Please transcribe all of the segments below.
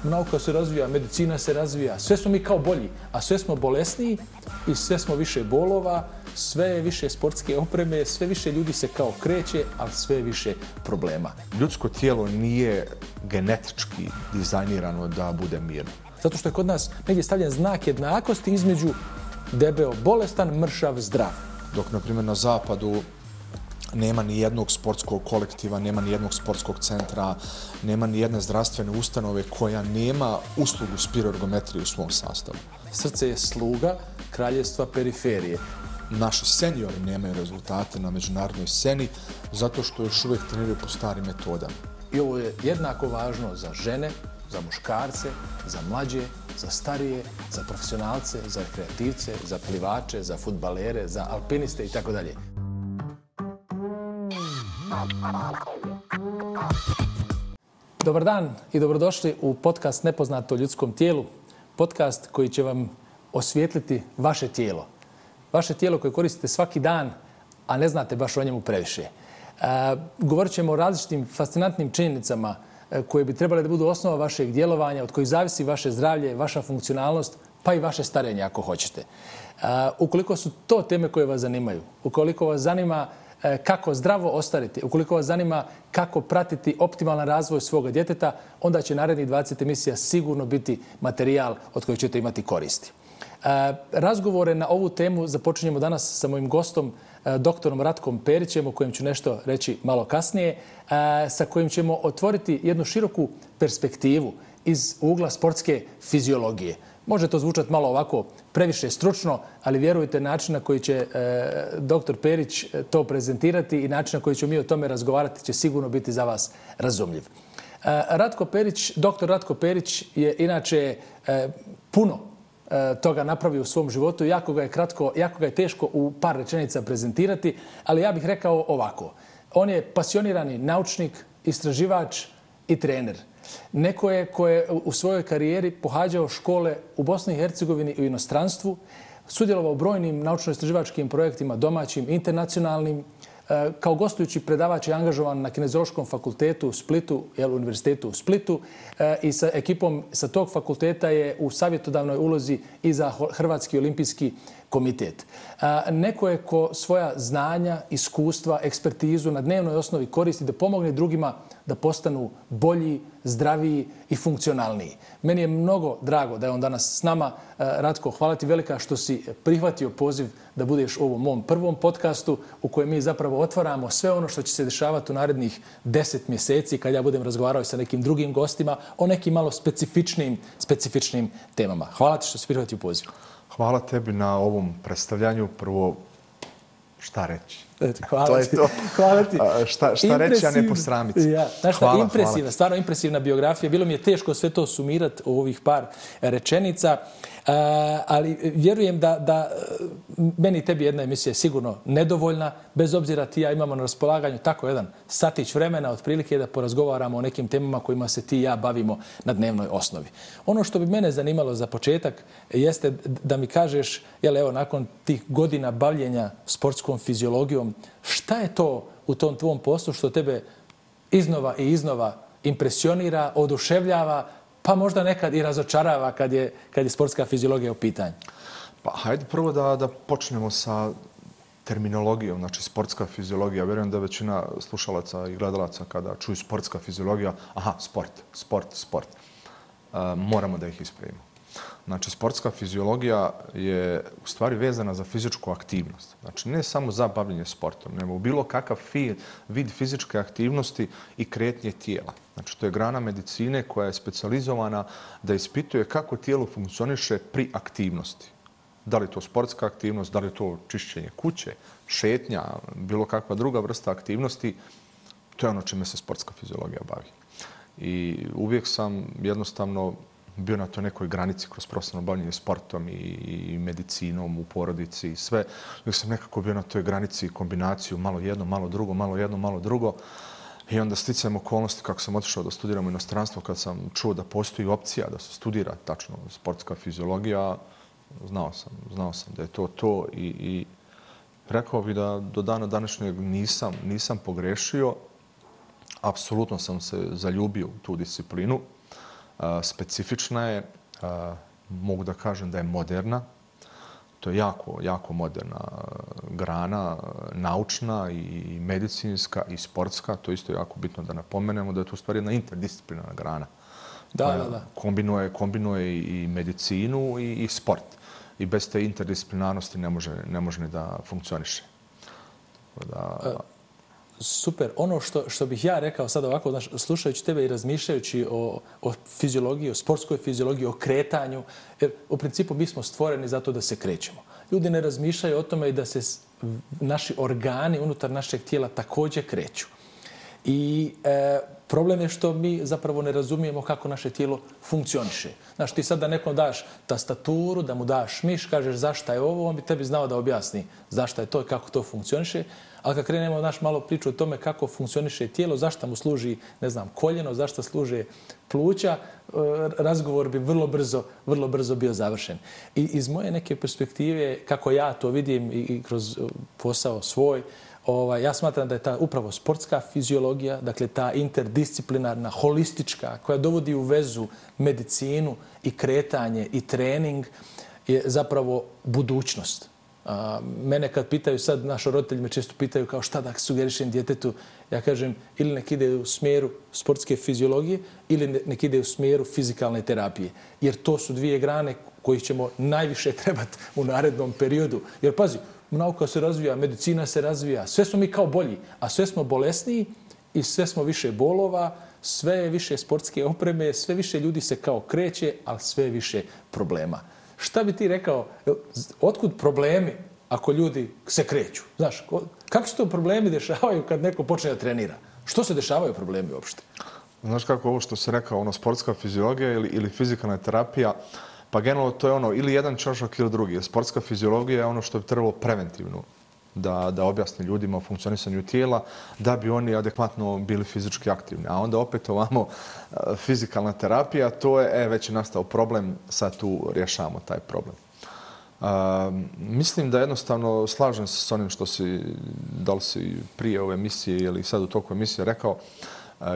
nauka se razvija, medicina se razvija, sve smo mi kao bolji, a sve smo bolesniji i sve smo više bolova, sve je više sportske opreme, sve više ljudi se kao kreće, ali sve je više problema. Ljudsko tijelo nije genetički dizajnirano da bude mirno. Zato što je kod nas negdje stavljen znak jednakosti između debeo bolestan, mršav, zdrav. Dok, na primjer, na zapadu nema ni jednog sportskog kolektiva, nema ni jednog sportskog centra, nema ni jedne zdravstvene ustanove koja nema uslugu spiroergometrije u svom sastavu. Srce je sluga kraljevstva periferije. Naši seniori nemaju rezultate na međunarodnoj sceni zato što još uvijek treniraju po starim metodama. I ovo je jednako važno za žene, za muškarce, za mlađe, za starije, za profesionalce, za rekreativce, za plivače, za fudbalere, za alpiniste i tako dalje. Dobar dan i dobrodošli u podcast Nepoznato o ljudskom tijelu. Podcast koji će vam osvijetliti vaše tijelo. Vaše tijelo koje koristite svaki dan, a ne znate baš o njemu previše. Govorit ćemo o različitim fascinantnim činjenicama koje bi trebale da budu osnova vašeg djelovanja, od kojih zavisi vaše zdravlje, vaša funkcionalnost, pa i vaše starenje ako hoćete. Ukoliko su to teme koje vas zanimaju, ukoliko vas zanima kako zdravo ostariti, ukoliko vas zanima kako pratiti optimalan razvoj svoga djeteta, onda će narednih 20 emisija sigurno biti materijal od kojeg ćete imati koristi. Razgovore na ovu temu započinjemo danas sa mojim gostom, doktorom Ratkom Perićem, o kojem ću nešto reći malo kasnije, sa kojim ćemo otvoriti jednu široku perspektivu iz ugla sportske fiziologije. Može to zvučati malo ovako previše stručno, ali vjerujte, način na koji će doktor Perić to prezentirati i način na koji ćemo mi o tome razgovarati će sigurno biti za vas razumljiv. Doktor Ratko Perić je inače puno toga napravio u svom životu. Jako ga je teško u par rečenica prezentirati, ali ja bih rekao ovako. On je pasionirani naučnik, istraživač i trener. Neko je ko je u svojoj karijeri pohađao škole u Bosni i Hercegovini i u inostranstvu, sudjelovao u brojnim naučno-istraživačkim projektima domaćim, internacionalnim. Kao gostujući predavač je angažovan na Kineziološkom fakultetu u Splitu, univerzitetu u Splitu, i sa ekipom sa tog fakulteta je u savjetodavnoj ulozi i za Hrvatski olimpijski komitet. Neko je ko svoja znanja, iskustva, ekspertizu na dnevnoj osnovi koristi da pomogne drugima da postanu bolji, zdraviji i funkcionalniji. Meni je mnogo drago da je on danas s nama. Ratko, hvala ti velika što si prihvatio poziv da budeš u ovom mom prvom podcastu u kojem mi zapravo otvaramo sve ono što će se dešavati u narednih 10 mjeseci kad ja budem razgovarao sa nekim drugim gostima o nekim malo specifičnim temama. Hvala ti što si prihvatio poziv. Hvala tebi na ovom predstavljanju. Prvo, šta reći? Hvala ti. Šta reći, a ne posramiti. Stvarno impresivna biografija. Bilo mi je teško sve to sumirati u ovih par rečenica, ali vjerujem da meni i tebi jedna emisija je sigurno nedovoljna, bez obzira ti ja imamo na raspolaganju tako jedan satić vremena, otprilike da porazgovaramo o nekim temama kojima se ti i ja bavimo na dnevnoj osnovi. Ono što bi mene zanimalo za početak jeste da mi kažeš, nakon tih godina bavljenja sportskom fiziologijom, šta je to u tom tvom poslu što tebe iznova i iznova impresionira, oduševljava, pa možda nekad i razočarava kad je sportska fiziologija u pitanju? Pa hajde prvo da počnemo sa terminologijom, znači sportska fiziologija. Vjerujem da većina slušalaca i gledalaca kada čuju sportska fiziologija, sport. Moramo da ih ispravimo. Znači, sportska fiziologija je u stvari vezana za fizičku aktivnost. Znači, ne samo za bavljenje sportom, nego bilo kakav vid fizičke aktivnosti i kretnje tijela. Znači, to je grana medicine koja je specijalizovana da ispituje kako tijelo funkcioniše pri aktivnosti. Da li to sportska aktivnost, da li to čišćenje kuće, šetnja, bilo kakva druga vrsta aktivnosti, to je ono čime se sportska fiziologija bavi. I uvijek sam jednostavno bio na toj nekoj granici kroz profesionalno bavljenje sportom i medicinom u porodici i sve. Uvijek sam nekako bio na toj granici kombinaciju malo jedno, malo drugo, malo jedno, malo drugo. I onda sticajem okolnosti kako sam otišao da studiram u inostranstvo, kad sam čuo da postoji opcija da se studira tačno sportska fiziologija, znao sam da je to i rekao bih da do dana današnjeg nisam pogrešio. Apsolutno sam se zaljubio u tu disciplinu. specifična je, mogu da kažem da je moderna. To je jako, jako moderna grana, naučna i medicinska i sportska. To je isto jako bitno da napomenemo da je to u stvari jedna interdisciplinarna grana. Da. Kombinuje i medicinu i sport. I bez te interdisciplinarnosti ne može ni da funkcioniše. Super. Ono što bih ja rekao sad ovako, slušajući tebe i razmišljajući o fiziologiji, o sportskoj fiziologiji, o kretanju, jer u principu mi smo stvoreni zato da se krećemo. Ljudi ne razmišljaju o tome i da se naši organi unutar našeg tijela također kreću. I problem je što mi zapravo ne razumijemo kako naše tijelo funkcioniše. Znaš, ti sad da nekom daš tastaturu, da mu daš miš, kažeš zašto je ovo, on bi tebi znao da objasni zašto je to i kako to funkcioniše. Ali kad krenemo malo priču o tome kako funkcioniše tijelo, zašto mu služi, ne znam, koljeno, zašto služe pluća, razgovor bi vrlo brzo bio završen. I iz moje neke perspektive, kako ja to vidim i kroz posao svoj, ja smatram da je ta upravo sportska fiziologija, dakle ta interdisciplinarna, holistička, koja dovodi u vezu medicinu i kretanje i trening, je zapravo budućnost. Mene kad pitaju sad, naši roditelji me često pitaju kao šta da sugerišem djetetu, ja kažem ili nek ide u smjeru sportske fiziologije ili nek ide u smjeru fizikalne terapije. Jer to su dvije grane kojih ćemo najviše trebati u narednom periodu. Jer pazi, nauka se razvija, medicina se razvija, sve smo mi kao bolji, a sve smo bolesniji i sve smo više bolova, sve je više sportske opreme, sve više ljudi se kao kreće, ali sve je više problema. Šta bi ti rekao, otkud problemi ako ljudi se kreću? Znaš, kako se to problemi dešavaju kad neko počne da trenira? Što se dešavaju problemi uopšte? Znaš kako ovo što se rekao, sportska fiziologija ili fizikalna terapija, pa generalno to je ili jedan čošak ili drugi. Sportska fiziologija je ono što bi trebalo preventivno da objasni ljudima o funkcionisanju tijela, da bi oni adekvatno bili fizički aktivni. A onda opet ovamo fizikalna terapija, to je već je nastao problem, sad tu rješavamo taj problem. Mislim da jednostavno slažem se s onim što da li si prije ove emisije ili sad u toku emisije rekao,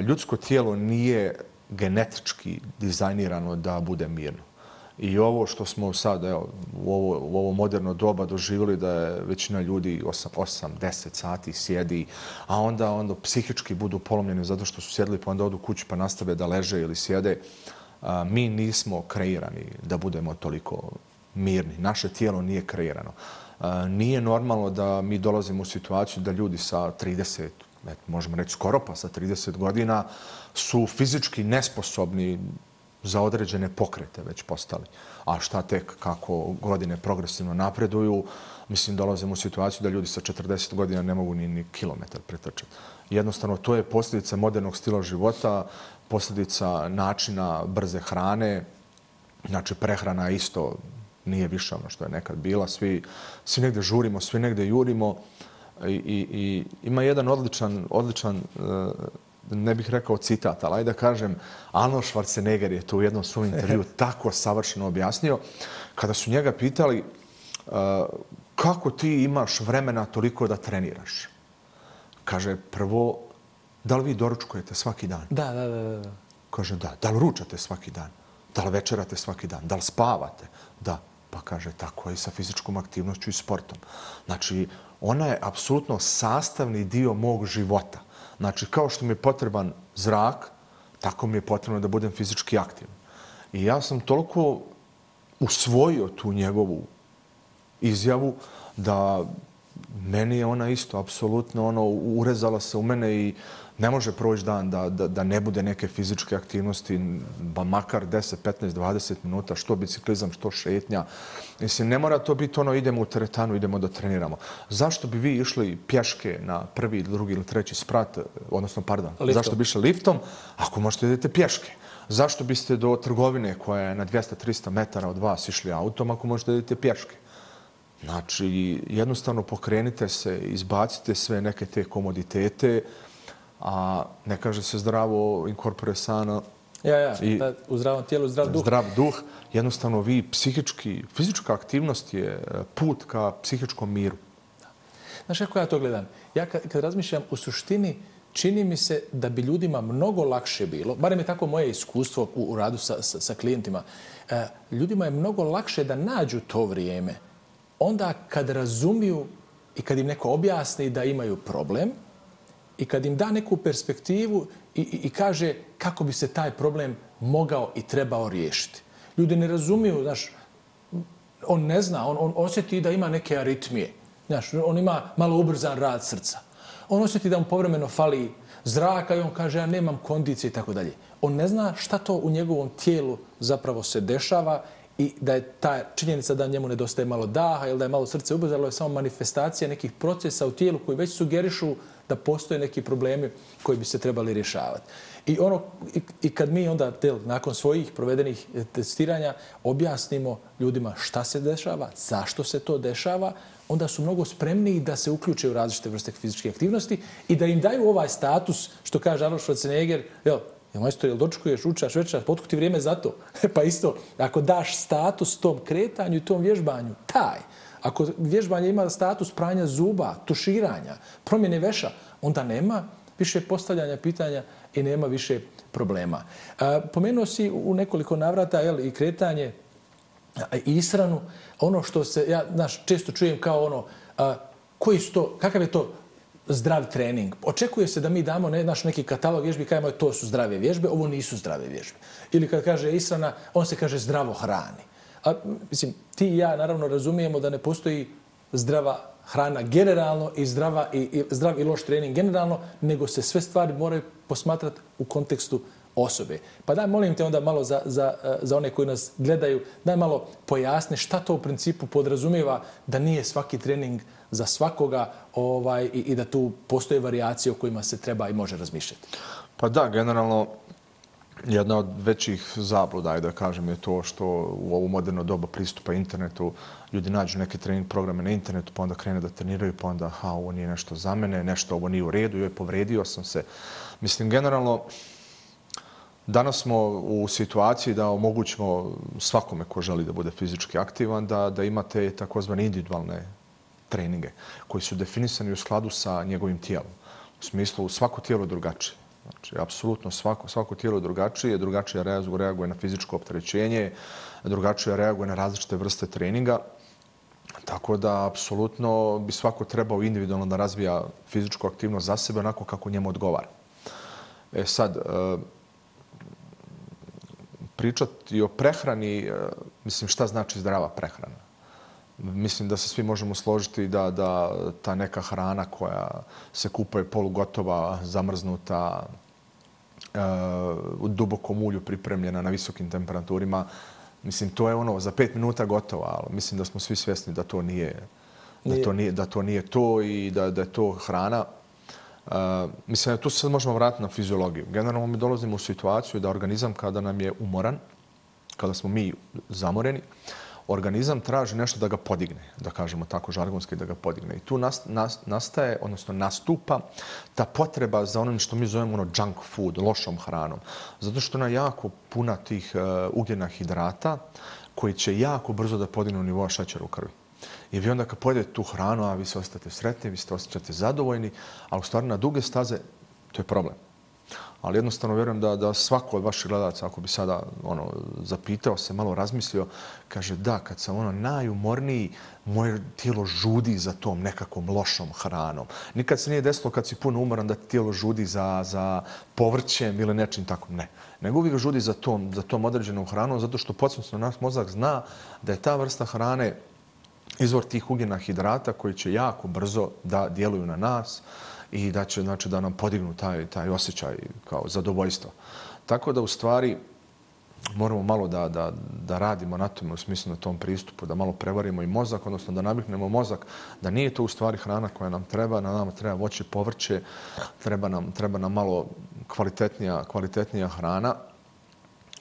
ljudsko tijelo nije genetički dizajnirano da bude mirno. I ovo što smo sad u ovo moderno doba doživjeli da je većina ljudi 8-10 sati sjedi, a onda psihički budu polomljeni zato što su sjedili pa onda odu kući pa nastave da leže ili sjede. Mi nismo kreirani da budemo toliko mirni. Naše tijelo nije kreirano. Nije normalno da mi dolazimo u situaciju da ljudi sa 30, možemo reći skoro pa sa 30 godina su fizički nesposobni za određene pokrete već postali. A šta tek kako godine progresivno napreduju, mislim dolazimo u situaciju da ljudi sa 40 godina ne mogu ni kilometar pretrčati. Jednostavno, to je posljedica modernog stila života, posljedica načina brze hrane. Znači, prehrana isto nije više ono što je nekad bila. Svi negde žurimo, svi negde jurimo. I ima jedan odličan ne bih rekao citat, ali ajde da kažem, Arnold Schwarzenegger je to u jednom svom intervju tako savršeno objasnio, kada su njega pitali kako ti imaš vremena toliko da treniraš. Kaže, prvo, da li vi doručkujete svaki dan? Da. Kaže, da. Da li ručate svaki dan? Da li večerate svaki dan? Da li spavate? Da. Pa kaže, tako je i sa fizičkom aktivnošću i sportom. Znači, ona je apsolutno sastavni dio mog života. Znači, kao što mi je potreban zrak, tako mi je potrebno da budem fizički aktivan. I ja sam toliko usvojio tu njegovu izjavu da meni je ona isto apsolutno urezala se u mene i ne može proći dan da ne bude neke fizičke aktivnosti, ba makar 10, 15, 20 minuta, što biciklizam, što šetnja. Mislim, ne mora to biti idemo u teretanu, idemo da treniramo. Zašto bi vi išli pješke na prvi, drugi ili treći sprat, zašto bi išli liftom, ako možete idete pješke? Zašto biste do trgovine koja je na 200-300 metara od vas išli autom, ako možete idete pješke? Znači, jednostavno pokrenite se, izbacite sve neke te komoditete, a ne kaže se zdravo incorpore sano. U zdravom tijelu, zdrav duh. Zdrav duh. Jednostavno vi fizička aktivnost je put ka psihičkom miru. Znaš kako ja to gledam? Ja kad razmišljam u suštini, čini mi se da bi ljudima mnogo lakše bilo, barem je tako moje iskustvo u radu sa klijentima, ljudima je mnogo lakše da nađu to vrijeme onda kad razumiju i kad im neko objasni da imaju problem i kad im da neku perspektivu i kaže kako bi se taj problem mogao i trebao riješiti. Ljudi ne razumiju, znaš, on ne zna, on osjeti da ima neke aritmije. Znaš, on ima malo ubrzan rad srca. On osjeti da mu povremeno fali zraka i on kaže ja nemam kondicije i tako dalje. On ne zna šta to u njegovom tijelu zapravo se dešava i da je ta činjenica da njemu nedostaje malo daha ili da je malo srce ubrzalo je samo manifestacija nekih procesa u tijelu koji već sugerišu da postoje neki problemi koji bi se trebali rješavati. I kad mi onda nakon svojih provedenih testiranja objasnimo ljudima šta se dešava, zašto se to dešava, onda su mnogo spremniji da se uključe u različite vrste fizičke aktivnosti i da im daju ovaj status, što kaže Arnold Schwarzenegger, majstor, jel dočekuješ, učaš, večeraš, potkud ti vrijeme za to? Pa isto, ako daš status tom kretanju i tom vježbanju, ako vježbanje ima status pranja zuba, tuširanja, promjene veša, onda nema više postavljanja pitanja i nema više problema. Pomenuo si u nekoliko navrata i kretanje i ishranu. Ono što se, ja često čujem kao kakav je to zdrav trening. Očekuje se da mi damo neki katalog vježbi i kažemo to su zdrave vježbe, ovo nisu zdrave vježbe. Ili kad kaže ishrana, on se kaže zdravo hrani. Mislim, ti i ja naravno razumijemo da ne postoji zdrava hrana generalno i zdrav i loš trening generalno, nego se sve stvari moraju posmatrati u kontekstu osobe. Pa daj, molim te onda malo za one koji nas gledaju, daj malo pojasni šta to u principu podrazumijeva da nije svaki trening za svakoga i da tu postoje varijacije o kojima se treba i može razmišljati. Pa da, generalno jedna od većih zabluda, da kažem, je to što u ovo moderno doba pristupa internetu ljudi nađu neke trening programe na internetu, pa onda krene da treniraju, pa onda ovo nije nešto za mene, nešto ovo nije u redu, joj povredio sam se. Mislim, generalno, danas smo u situaciji da omogućimo svakome ko želi da bude fizički aktivan, da imate takozvane individualne treninge koji su definisani u skladu sa njegovim tijelom. U smislu, svako tijelo je drugačije. Znači, apsolutno svako tijelo je drugačije reaguje na fizičko opterećenje, drugačije reaguje na različite vrste treninga. Tako da, apsolutno bi svako trebao individualno da razvija fizičku aktivnost za sebe onako kako njemu odgovara. Sad, pričati o prehrani, mislim, šta znači zdrava prehrana? Mislim da se svi možemo složiti da ta neka hrana koja se kupuje polugotova, zamrznuta, u dubokom ulju pripremljena na visokim temperaturima, mislim, to je za 5 minuta gotova, ali mislim da smo svi svjesni da to nije to i da je to hrana. Mislim da tu se sad možemo vratiti na fiziologiju. Generalno mi dolazimo u situaciju da organizam kada nam je umoran, kada smo mi zamoreni, organizam traži nešto da ga podigne, da kažemo tako žargonski, da ga podigne. I tu nastaje, odnosno nastupa ta potreba za onom što mi zovemo junk food, lošom hranom. Zato što ona jako puna tih ugljena hidrata koji će jako brzo da podignu nivoa šećera u krvi. I vi onda kad pojedete tu hranu, a vi se osjećate sretni, vi se osjećate zadovoljni, ali u stvari na duge staze to je problem. Ali jednostavno vjerujem da svako od vaših gledalaca, ako bi sada zapitao se, malo razmislio, kaže da, kad sam najumorniji, moje tijelo žudi za tom nekakvom lošom hranom. Nikad se nije desilo kad si puno umoran da tijelo žudi za povrćem ili nečim tako. Ne. Nego uvijek žudi za tom određenom hranom, zato što podsvjesno naš mozak zna da je ta vrsta hrane izvor tih ugljena hidrata koji će jako brzo da djeluju na nas i da će da nam podignu taj osjećaj kao zadovoljstvo. Tako da u stvari moramo malo da radimo na tome, u smislu na tom pristupu, da malo prevarimo i mozak, odnosno da naviknemo mozak da nije to u stvari hrana koja nam treba, nama treba voće, povrće, treba nam malo kvalitetnija hrana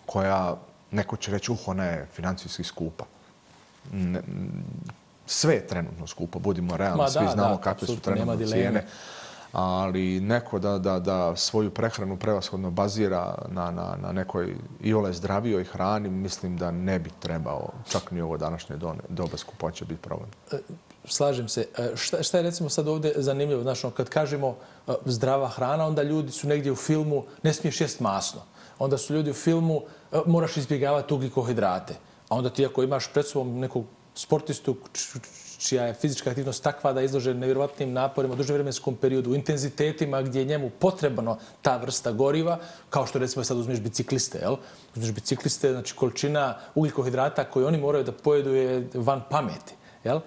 koja, neko će reći, ona je financijski skupa. Sve je trenutno skupo, budimo realni, svi znamo kakve su trenutno cijene. Ali neko da svoju prehranu prevashodno bazira na nekoj iole zdravijoj hrani, mislim da ne bi trebao čak ni ovo današnje doba skupoće biti problem. slažem se. Šta je recimo sad ovdje zanimljivo? Znači, kad kažemo zdrava hrana, onda ljudi su negdje u filmu, ne smiješ jest masno. Onda su ljudi u filmu, moraš izbjegavati ugljikohidrate. A onda ti ako imaš pred sobom nekog sportistu čija je fizička aktivnost takva da je izložen nevjerovatnim naporima u dužem vremenskom periodu, u intenzitetima gdje je njemu potrebno ta vrsta goriva, kao što recimo sad uzmeš bicikliste, jel? Uzmeš bicikliste, znači količina ugljikohidrata koju oni moraju da pojedu je van pameti. Jel?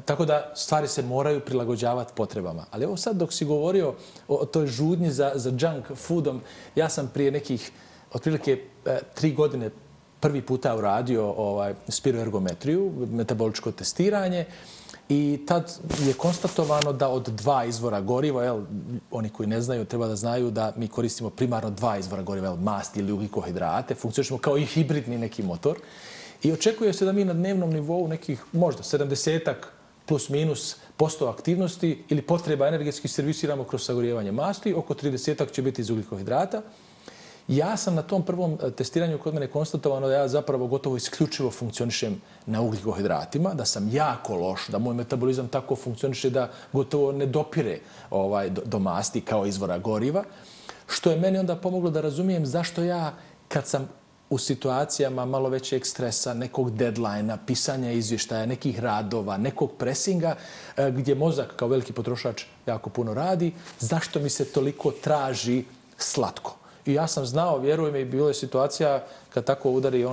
Tako da stvari se moraju prilagođavati potrebama. Ali ovo sad dok si govorio o toj žudnji za junk foodom, ja sam prije nekih otprilike 3 godine prvi puta uradio spiroergometriju, metaboličko testiranje i tad je konstatovano da od 2 izvora goriva, oni koji ne znaju treba da znaju da mi koristimo primarno 2 izvora goriva, masti ili ugljikohidrate, funkcionišemo kao i hibridni neki motor. I očekuje se da mi na dnevnom nivou nekih možda 70% plus minus % aktivnosti ili potreba energetski servisiramo kroz sagorijevanje masti, oko 30% će biti iz ugljikohidrata. Ja sam na tom prvom testiranju kod mene konstatovano da ja zapravo gotovo isključivo funkcionišem na ugljikohidratima, da sam jako loš, da moj metabolizam tako funkcioniše da gotovo ne dopire do masti kao izvora goriva, što je meni onda pomoglo da razumijem zašto ja kad sam u situacijama malo većeg stresa, nekog deadline-a, pisanja izvještaja, nekih radova, nekog presinga, gdje mozak kao veliki potrošač jako puno radi, zašto mi se toliko traži slatko. I ja sam znao, vjeruj mi, bilo je situacija kad tako udari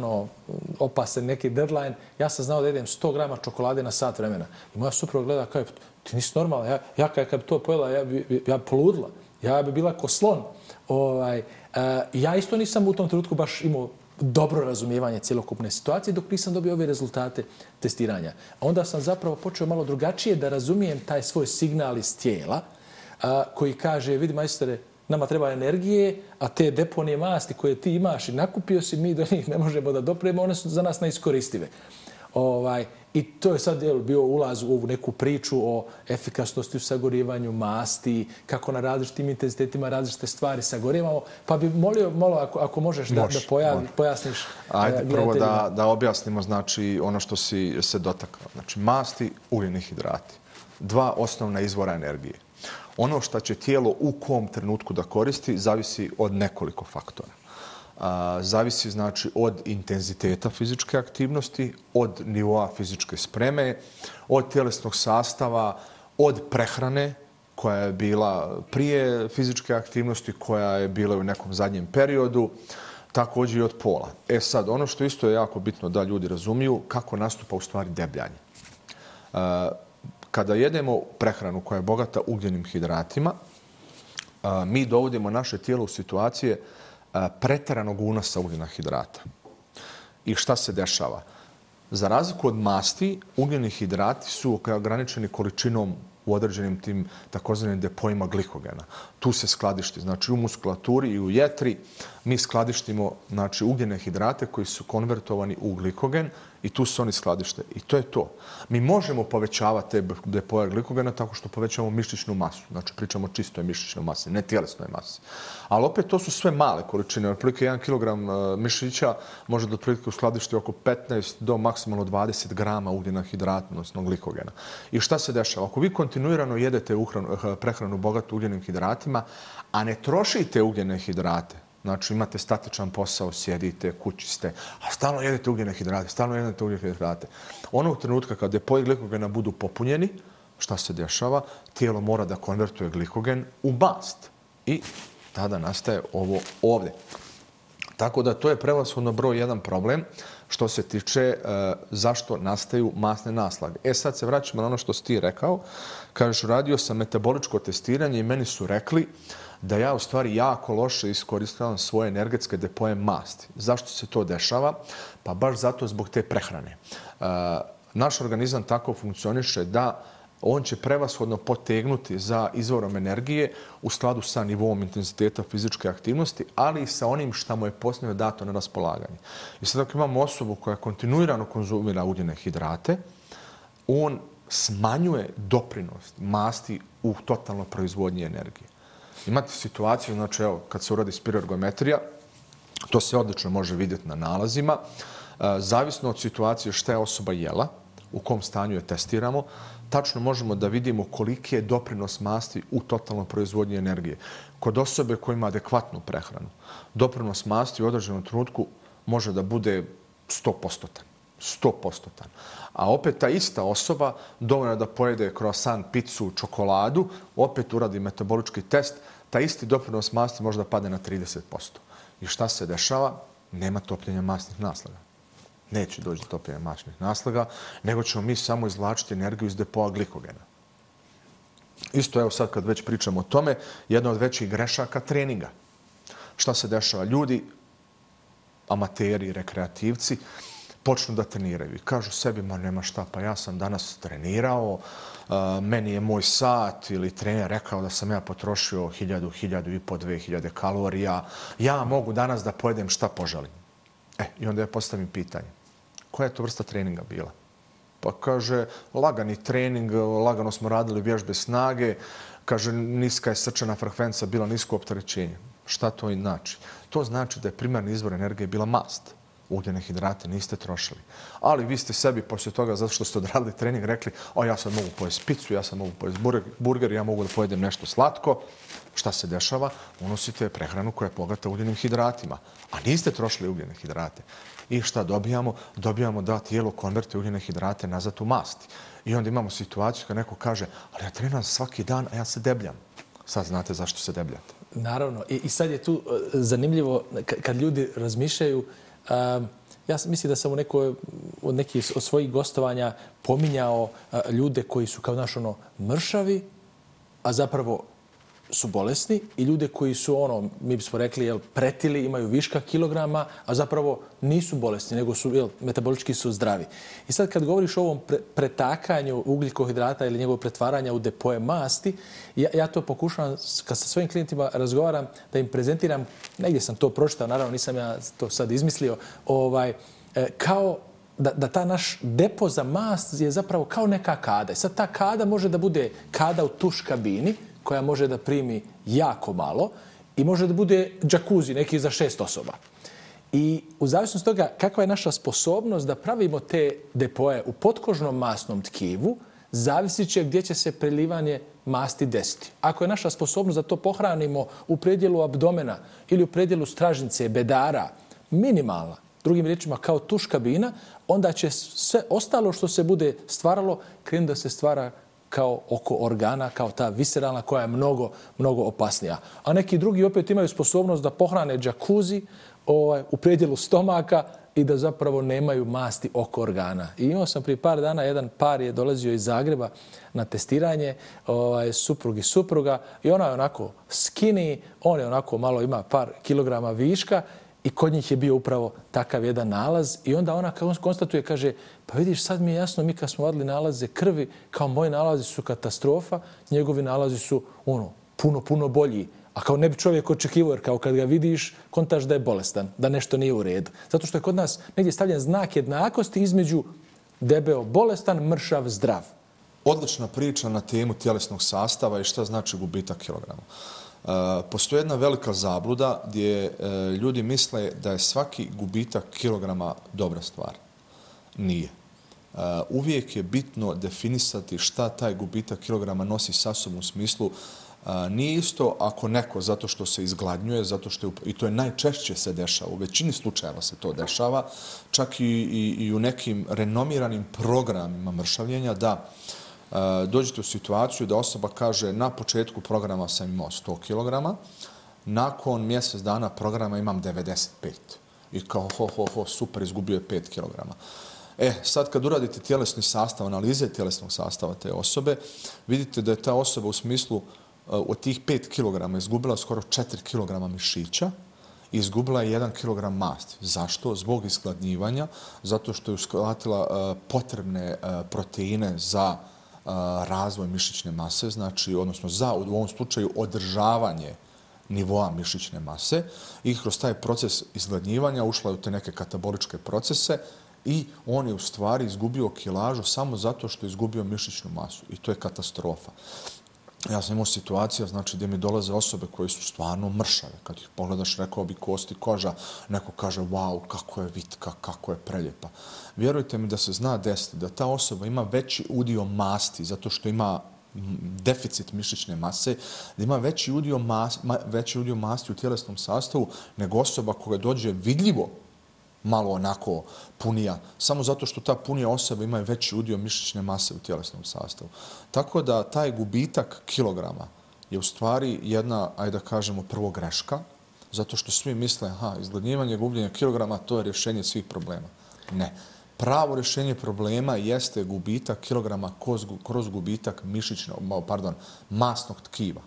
opasan neki deadline, ja sam znao da jedem 100 grama čokolade na sat vremena. I moja supruga gleda, kao, ti nisi normalna, ja kad bi to pojela, ja bi poludila, ja bi bila ko slon. Ja isto nisam u tom trenutku baš imao dobro razumijevanje cjelokupne situacije dok nisam dobio ove rezultate testiranja. Onda sam zapravo počeo malo drugačije da razumijem taj svoj signal iz tijela koji kaže, vidi majstore, nama treba energije, a te deponije masti koje ti imaš i nakupio si, mi do njih ne možemo da dopremo, one su za nas neiskoristive. I to je sad bio ulaz u ovu neku priču o efikasnosti u sagorijevanju masti, kako na različitim intenzitetima različite stvari sagorijevamo. Pa bi molio malo ako možeš da pojasniš. Ajde prvo da objasnimo znači ono što si se dotakao. Znači masti, ugljeni hidrati. 2 osnovna izvora energije. Ono što će tijelo u kom trenutku da koristi zavisi od nekoliko faktora. Zavisi znači od intenziteta fizičke aktivnosti, od nivoa fizičke spreme, od tjelesnog sastava, od prehrane koja je bila prije fizičke aktivnosti, koja je bila u nekom zadnjem periodu, također i od pola. Sad, ono što isto je jako bitno da ljudi razumiju, kako nastupa u stvari debljanje. Kada jedemo prehranu koja je bogata ugljenim hidratima, mi dovodimo naše tijelo u situacije pretjeranog unosa ugljena hidrata. I šta se dešava? Za razliku od masti, ugljeni hidrati su ograničeni količinom u određenim tim takozvanim depojima glikogena. Tu se skladišti, znači u muskulaturi i u jetri mi skladištimo znači, ugljene hidrate koji su konvertovani u glikogen i tu se oni skladište. I to je to. Mi možemo povećavati te depoje glikogena tako što povećamo mišićnu masu. Znači pričamo o čistoj mišićnoj masi, ne tjelesnoj masi. Ali opet to su sve male količine. Otprilike 1 kg mišića može da otprilike uskladišti oko 15 do maksimalno 20 grama ugljena hidrata, odnosno glikogena. I šta se dešava? Ako vi kontinuirano jedete prehranu bogatu ugljenim hidratima, a ne trošite ugljene hidrate, znači imate statičan posao, sjedite, kući ste, a stalno jedete ugljene hidrate, Onog trenutka kad depoji glikogena budu popunjeni, šta se dešava? Tijelo mora da konvertuje glikogen u mast. I tada nastaje ovo ovdje. Tako da to je prevashodno broj 1 problem što se tiče zašto nastaju masne naslage. Sad se vraćamo na ono što si ti rekao. Kažeš, uradio sam metaboličko testiranje i meni su rekli da ja u stvari jako loše iskoristavam svoje energetske depoje masti. Zašto se to dešava? Pa baš zato zbog te prehrane. Naš organizam tako funkcioniše da on će prevashodno potegnuti za izvorom energije u skladu sa nivom intenziteta fizičke aktivnosti, ali i sa onim što mu je posljedno dato na raspolaganje. I sad ako imamo osobu koja kontinuirano konzumira ugljene hidrate, on smanjuje doprinos masti u totalnoj proizvodnji energije. Imate situaciju, znači evo, kad se uradi spiroergometrija, to se odlično može vidjeti na nalazima, zavisno od situacije šta je osoba jela, u kom stanju je testiramo, tačno možemo da vidimo koliki je doprinos masti u totalnoj proizvodnji energije. Kod osobe koja ima adekvatnu prehranu, doprinos masti u određenom trenutku može da bude 100%. 100%. A opet ta ista osoba dovoljno da pojede croissant, picu, čokoladu, opet uradi metabolički test, ta isti doprinos masti može da padne na 30%. I šta se dešava? Nema topljenja masnih naslaga. Neće doći do topljenja masnih naslaga, nego ćemo mi samo izvlačiti energiju iz depoa glikogena. Isto, evo sad kad već pričamo o tome, jedna od većih grešaka treninga. Šta se dešava? Ljudi, amateri, rekreativci, počnu da treniraju i kažu sebi, ma nema šta, pa ja sam danas trenirao, meni je moj sat ili trener rekao da sam ja potrošio 1000, 1500, 2000 kalorija, ja mogu danas da pojedem šta poželim. I onda ja postavim pitanje, koja je to vrsta treninga bila? Pa kaže, lagani trening, lagano smo radili vježbe snage, kaže, niska je srčana frekvencija, bila nisko opterećenje. Šta to znači? To znači da je primarni izvor energije bila mast. Ugljene hidrate niste trošili. Ali vi ste sebi poslije toga, zato što ste odradili trening, rekli, ja sad mogu pojesti picu, ja sad mogu pojesti burger, ja mogu da pojedem nešto slatko. Šta se dešava? Unosite prehranu koja je bogata ugljenim hidratima, a niste trošili ugljene hidrate. I šta dobijamo? Dobijamo da tijelo konvertuje ugljene hidrate nazad u masti. I onda imamo situaciju kad neko kaže, ali ja treniram svaki dan, a ja se debljam. Sad znate zašto se debljate. Naravno. I sad je tu zanimljivo kad ljudi razmišljaju. Ja mislim da sam od nekih od svojih gostovanja pominjao ljude koji su kao mršavi, a zapravo su bolesni, i ljude koji su mi bismo rekli, pretili, imaju viška kilograma, a zapravo nisu bolesni, nego su metabolički su zdravi. I sad kad govoriš o ovom pretakanju ugljikohidrata ili njegovog pretvaranja u depoje masti, ja to pokušavam, kad sa svojim klijentima razgovaram, da im prezentiram, negdje sam to pročitao, naravno nisam ja to sad izmislio, kao da ta naš depo za mast je zapravo kao neka kada. I sad ta kada može da bude kada u tuš kabini, koja može da primi jako malo, i može da bude džakuzi neki za 6 osoba. I u zavisnosti toga kakva je naša sposobnost da pravimo te depoje u potkožnom masnom tkivu, zavisit će gdje će se prelivanje masti desiti. Ako je naša sposobnost da to pohranimo u predjelu abdomena ili u predjelu stražnice, bedara, minimalna, drugim riječima kao tuš kabina, onda će sve ostalo što se bude stvaralo krenuti da se stvara kao oko organa, kao ta visceralna koja je mnogo, mnogo opasnija. A neki drugi opet imaju sposobnost da pohrane džakuzi u predjelu stomaka i da zapravo nemaju masti oko organa. I imao sam prije par dana, jedan par je dolazio iz Zagreba na testiranje, suprug i supruga, i ona je onako skinny, on je onako malo ima par kilograma viška, i kod njih je bio upravo takav jedan nalaz. I onda ona konstatuje, kaže, pa vidiš, sad mi je jasno, mi kad smo vadili nalaze krvi, kao moji nalazi su katastrofa, njegovi nalazi su puno bolji. A kao ne bi čovjek očekivao, jer kao kad ga vidiš, kontaš da je bolestan, da nešto nije u redu. Zato što je kod nas negdje stavljen znak jednakosti između debeo bolestan, mršav, zdrav. Odlična priča na temu tjelesnog sastava i šta znači gubitak kilograma. Postoji jedna velika zabluda gdje ljudi misle da je svaki gubitak kilograma dobra stvar. Nije. Uvijek je bitno definisati šta taj gubitak kilograma nosi sa sobom u smislu. Nije isto ako neko, zato što se izgladnjuje, zato što i to je najčešće se dešava, u većini slučajeva se to dešava, čak i u nekim renomiranim programima mršavljenja, da dođete u situaciju da osoba kaže na početku programa sam imao 100 kg, nakon mjesec dana programa imam 95. I kao super, izgubio je 5 kg. Sad kad uradite tjelesni sastav, analize tjelesnog sastava te osobe, vidite da je ta osoba u smislu od tih 5 kg izgubila skoro 4 kg mišića i izgubila je 1 kg masti. Zašto? Zbog isgladnjivanja, zato što je uskladila potrebne proteine za razvoj mišićne mase, znači, odnosno za, u ovom slučaju, održavanje nivoa mišićne mase, i kroz taj proces izgladnjivanja ušla je u te neke kataboličke procese i on je u stvari izgubio kilažu samo zato što je izgubio mišićnu masu. I to je katastrofa. Ja sam imao situacija, znači, gdje mi dolaze osobe koje su stvarno mršave. Kad ih pogledaš, rekao bi kosti, koža, neko kaže, wow, kako je vitka, kako je preljepa. Vjerujte mi da se zna desiti da ta osoba ima veći udio masti, zato što ima deficit mišićne mase, da ima veći udio masti u tjelesnom sastavu nego osoba koja dođe vidljivo malo onako punija, samo zato što ta punija osoba ima veći udio mišićne mase u tjelesnom sastavu. Tako da taj gubitak kilograma je u stvari jedna, ajde da kažemo, prvo greška, zato što svi misle, izgladnjivanje, gubljenje kilograma, to je rješenje svih problema. Ne. Pravo rješenje problema jeste gubitak kilograma kroz gubitak masnog tkiva.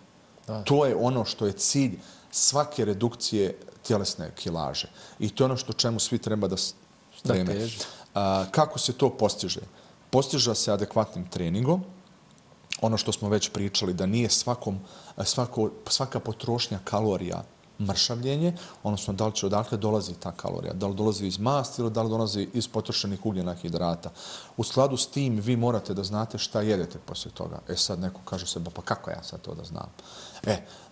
To je ono što je cilj svake redukcije tjelesne kilaže. I to je ono što čemu svi treba da streme. Kako se to postiže? Postiže se adekvatnim treningom. Ono što smo već pričali, da nije svaka potrošnja kalorija mršavljenje, odnosno da li će odakle dolazi ta kalorija, da li dolazi iz masti ili da li dolazi iz potrošenih ugljena hidrata. U skladu s tim vi morate da znate šta jedete poslije toga. Sad neko kaže se, pa kako ja sad to da znam?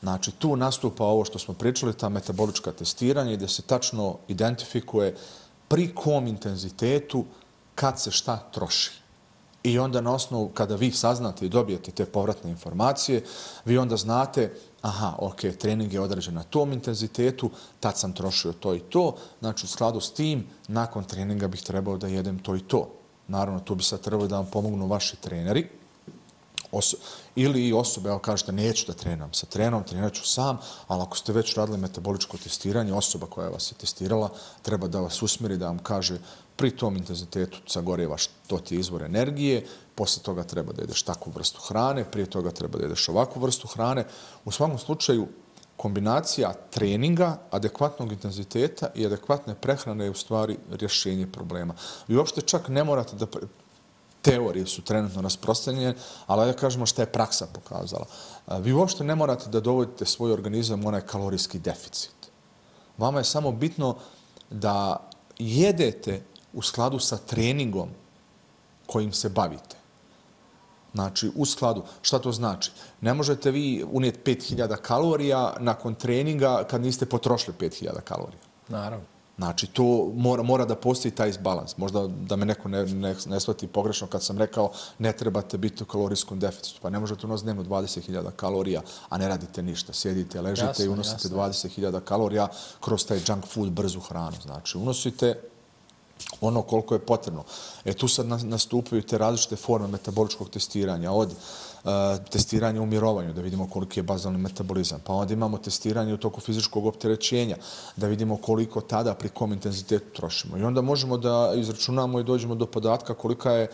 Znači tu nastupa ovo što smo pričali, ta metabolička testiranja gdje se tačno identifikuje pri kom intenzitetu kad se šta troši. I onda na osnovu, kada vi saznate i dobijete te povratne informacije, vi onda znate, trening je određen na tom intenzitetu, tad sam trošio to i to, znači u skladu s tim, nakon treninga bih trebao da jedem to i to. Naravno, tu bi sad trebalo da vam pomognu vaši treneri, ili i osobe, evo kažete, neću da treniram sa trenerom, trenirat ću sam, ali ako ste već radili metaboličko testiranje, osoba koja vas je testirala treba da vas usmjeri, da vam kaže pri tom intenzitetu sagorevaš, to ti je izvor energije, poslije toga treba da jedeš takvu vrstu hrane, prije toga treba da jedeš ovakvu vrstu hrane. U svakom slučaju, kombinacija treninga, adekvatnog intenziteta i adekvatne prehrane je u stvari rješenje problema. Vi uopšte čak ne morate da... Teorije su trenutno rasprostranjene, ali da kažemo šta je praksa pokazala. Vi uopšte ne morate da dovodite svoj organizam u onaj kalorijski deficit. Vama je samo bitno da jedete u skladu sa treningom kojim se bavite. Znači, u skladu. Šta to znači? Ne možete vi unijeti 5000 kalorija nakon treninga kad niste potrošili 5000 kalorija. Naravno. Znači, to mora da postoji taj izbalans. Možda da me neko ne shvati pogrešno kad sam rekao ne trebate biti u kalorijskom deficitu. Pa ne možete unositi dnevno 20.000 kalorija, a ne radite ništa. Sjedite, ležite i unosite 20.000 kalorija kroz taj junk food, brzu hranu. Znači, unosite ono koliko je potrebno. Tu sad nastupaju te različite forme metaboličkog testiranja, od testiranja u mirovanju, da vidimo koliki je bazalni metabolizam, pa onda imamo testiranje u toku fizičkog opterećenja, da vidimo koliko tada pri kom intenzitetu trošimo. I onda možemo da izračunamo i dođemo do podatka kolika je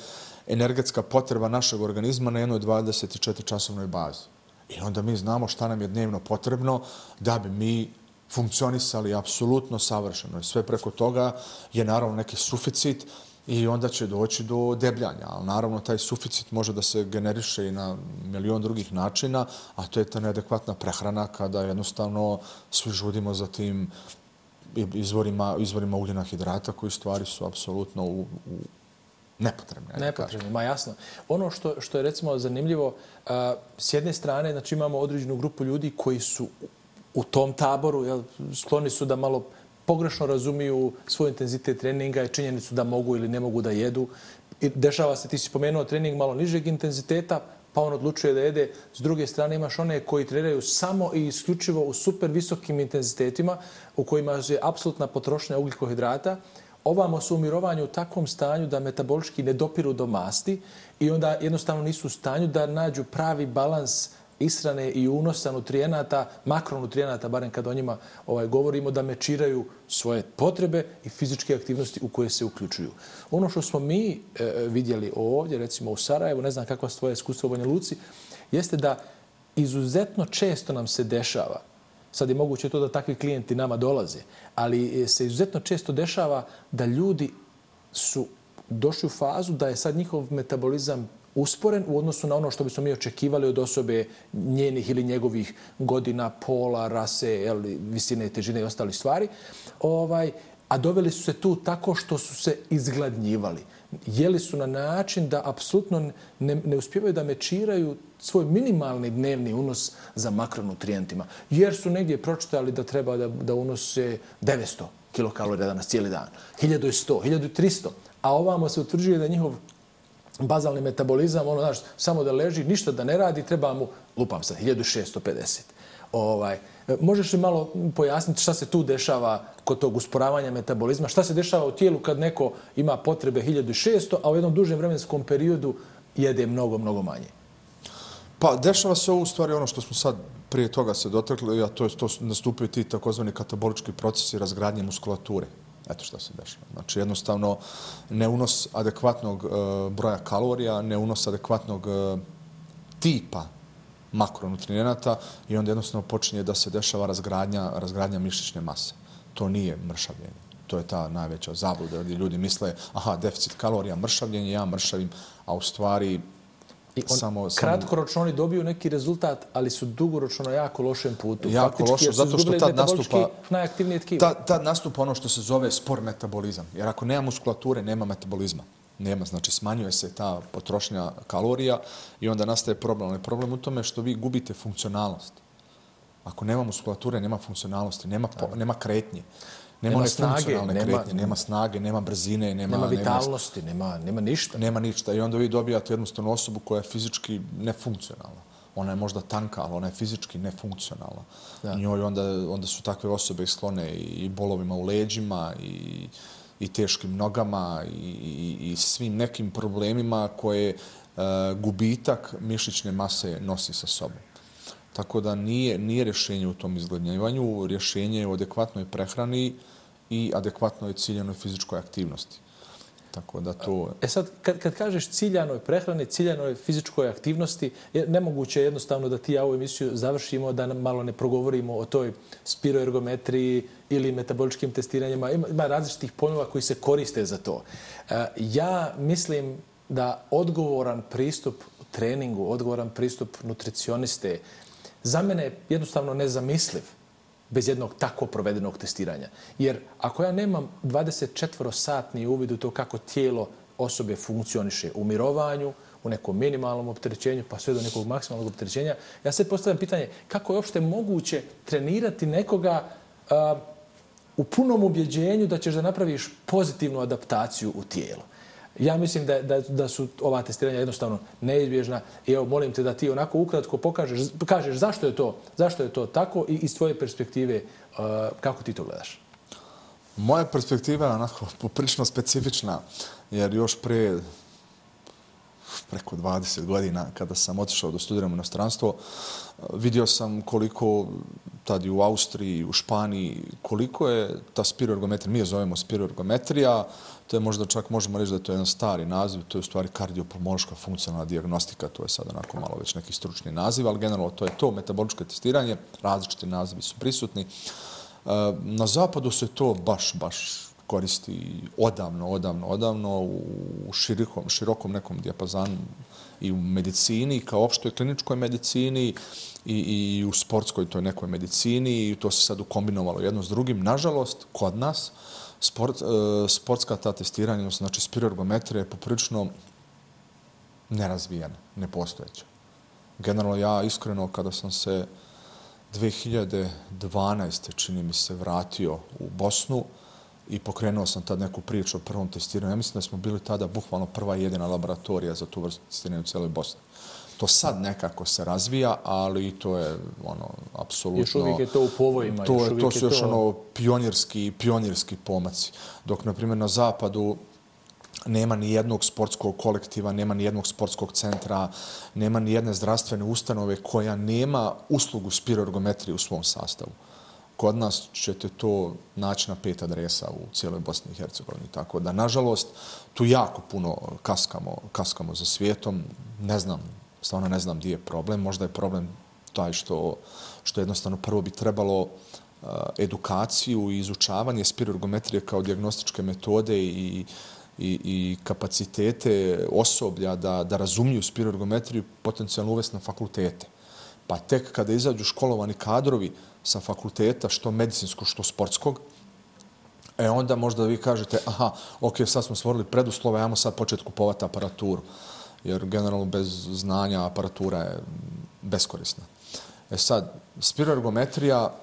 energetska potreba našeg organizma na jednoj 24-časovnoj bazi. I onda mi znamo šta nam je dnevno potrebno da bi mi funkcionisali apsolutno savršeno. I sve preko toga je naravno neki suficit i onda će doći do debljanja. Ali naravno taj suficit može da se generiše i na milion drugih načina, a to je ta neadekvatna prehrana kada jednostavno svi žudimo za tim izvorima ugljena hidrata koji stvari su apsolutno nepotrebne. Nepotrebne, ma jasno. Ono što je recimo zanimljivo, s jedne strane znači imamo određenu grupu ljudi koji su u tom taboru, skloni su da malo pogrešno razumiju svoj intenzitet treninga i činjenicu da mogu ili ne mogu da jedu. I dešava se, ti si spomenuo trening malo nižeg intenziteta, pa on odlučuje da jede. S druge strane imaš one koji treniraju samo i isključivo u super visokim intenzitetima u kojima je apsolutna potrošnja ugljikohidrata. Ovamo su u mirovanju u takvom stanju da metabolički ne dopiru do masti i onda jednostavno nisu u stanju da nađu pravi balans ishrane i unosa nutrijenata, makronutrijenata, barem kad o njima govorimo, da mečiraju svoje potrebe i fizičke aktivnosti u koje se uključuju. Ono što smo mi vidjeli ovdje, recimo u Sarajevu, ne znam kakva su tvoje iskustva u Banja Luci, jeste da izuzetno često nam se dešava, sad je moguće to da takvi klijenti nama dolaze, ali se izuzetno često dešava da ljudi su došli u fazu da je sad njihov metabolizam usporen u odnosu na ono što bismo mi očekivali od osobe njenih ili njegovih godina, pola, rase, visine, težine i ostali stvari. A doveli su se tu tako što su se izgladnjivali. jeli su na način da apsolutno ne uspijevaju da mečiraju svoj minimalni dnevni unos za makronutrijentima. Jer su negdje pročitali da treba da unose 900 kilokalorija danas cijeli dan, 1100, 1300, a ovamo se utvrđuje da njihov bazalni metabolizam, samo da leži, ništa da ne radi, treba mu, lupam sad, 1650. Možeš li malo pojasniti šta se tu dešava kod tog usporavanja metabolizma? Šta se dešava u tijelu kad neko ima potrebe 1600, a u jednom dužem vremenskom periodu jede mnogo, mnogo manje? Pa dešava se u stvari ono što smo sad prije toga se dotakli, a to nastupaju ti takozvani katabolički procesi razgradnje muskulature. Eto što se dešava. Znači jednostavno neunos adekvatnog broja kalorija, neunos adekvatnog tipa makronutrijenata i onda jednostavno počinje da se dešava razgradnja mišićne mase. To nije mršavljenje. To je ta najveća zabluda gdje ljudi misle deficit kalorija, mršavljenje, ja mršavim, a u stvari kratkoročno oni dobiju neki rezultat, ali su dugoročno na jako lošem putu. Jako loše, zato što tad nastupa najaktivnije tkivo. Tad nastupa ono što se zove spor metabolizam. Jer ako nema muskulature, nema metabolizma. Nema, znači smanjuje se ta potrošnja kalorija i onda nastaje problem. Ali problem u tome što vi gubite funkcionalnost. Ako nema muskulature, nema funkcionalnosti, nema kretnje. Nema funkcionalne kretnje, nema snage, nema brzine, nema vitalnosti, nema ništa. Nema ništa i onda vi dobijate jednostavnu osobu koja je fizički nefunkcionalna. Ona je možda tanka, ali ona je fizički nefunkcionalna. Njoj onda su takve osobe sklone i bolovima u leđima i teškim nogama i svim nekim problemima koje gubitak mišićne mase nosi sa sobom. Tako da nije rješenje u tom izgladnjivanju, rješenje je u adekvatnoj prehrani i adekvatnoj ciljanoj fizičkoj aktivnosti. Tako da to... Sad, kad kažeš ciljanoj prehrani, ciljanoj fizičkoj aktivnosti, nemoguće je jednostavno da ti ja ovu emisiju završimo, da malo ne progovorimo o toj spiroergometriji ili metaboličkim testiranjima. Ima različitih pojmova koji se koriste za to. Ja mislim da odgovoran pristup treningu, odgovoran pristup nutricioniste, za mene je jednostavno nezamisliv bez jednog tako provedenog testiranja. Jer ako ja nemam 24-satni uvid u to kako tijelo osobe funkcioniše u mirovanju, u nekom minimalnom opterećenju, pa sve do nekog maksimalnog opterećenja, ja sad postavljam pitanje kako je uopšte moguće trenirati nekoga u punom ubjeđenju da ćeš da napraviš pozitivnu adaptaciju u tijelu. Ja mislim da su ova testiranja jednostavno neizbježna i evo molim te da ti onako ukratko kažeš zašto je to tako i iz tvoje perspektive kako ti to gledaš. Moja perspektiva je onako poprilično specifična jer još preko 20 godina kada sam otišao da studiram u inostranstvo, vidio sam koliko tad i u Austriji, u Španiji, koliko je ta spiroergometrija, mi je zovemo spiroergometrija, to je možda čak možemo reći da je to jedan stari naziv, to je u stvari kardiopulmološka funkcionalna dijagnostika, to je sad onako malo već neki stručni naziv, ali generalno to je to metaboličko testiranje, različiti nazivi su prisutni. Na zapadu se to baš koristi odavno u širokom nekom dijapazanu i u medicini, kao opštoj kliničkoj medicini i u sportskoj toj nekoj medicini i to se sad ukombinovalo jedno s drugim. Nažalost, kod nas sportska ta testiranja, znači spiroergometrija je poprilično nerazvijena, nepostojeća. Generalno ja iskreno kada sam se 2012. čini mi se vratio u Bosnu i pokrenuo sam tad neku priču o prvom testiranju. Ja mislim da smo bili tada bukvalno prva i jedina laboratorija za tu vrstu testiranja u cijeloj Bosni. To sad nekako se razvija, ali to je apsolutno... Još uvijek je to u povojima. To su još pionirski pomaci. Dok, na primjer, na zapadu nema ni jednog sportskog kolektiva, nema ni jednog sportskog centra, nema ni jedne zdravstvene ustanove koja nema uslugu spiroergometrije u svom sastavu. Kod nas ćete to naći na 5 adresa u cijeloj Bosni i Hercegovini. Tako da, nažalost, tu jako puno kaskamo za svijetom. Stvarno ne znam gdje je problem. Možda je problem taj što jednostavno prvo bi trebalo edukaciju i izučavanje spiroergometrije kao dijagnostičke metode i kapacitete osoblja da razumiju spiroergometriju potencijalno uvesti na fakultete. Pa tek kada izađu školovani kadrovi sa fakulteta, što medicinskog, što sportskog, Onda možda vi kažete, aha, ok, sad smo stvorili preduslove, ajmo sad početi kupovati aparaturu. Jer generalno bez znanja aparatura je beskorisna. Sad, spiroergometrija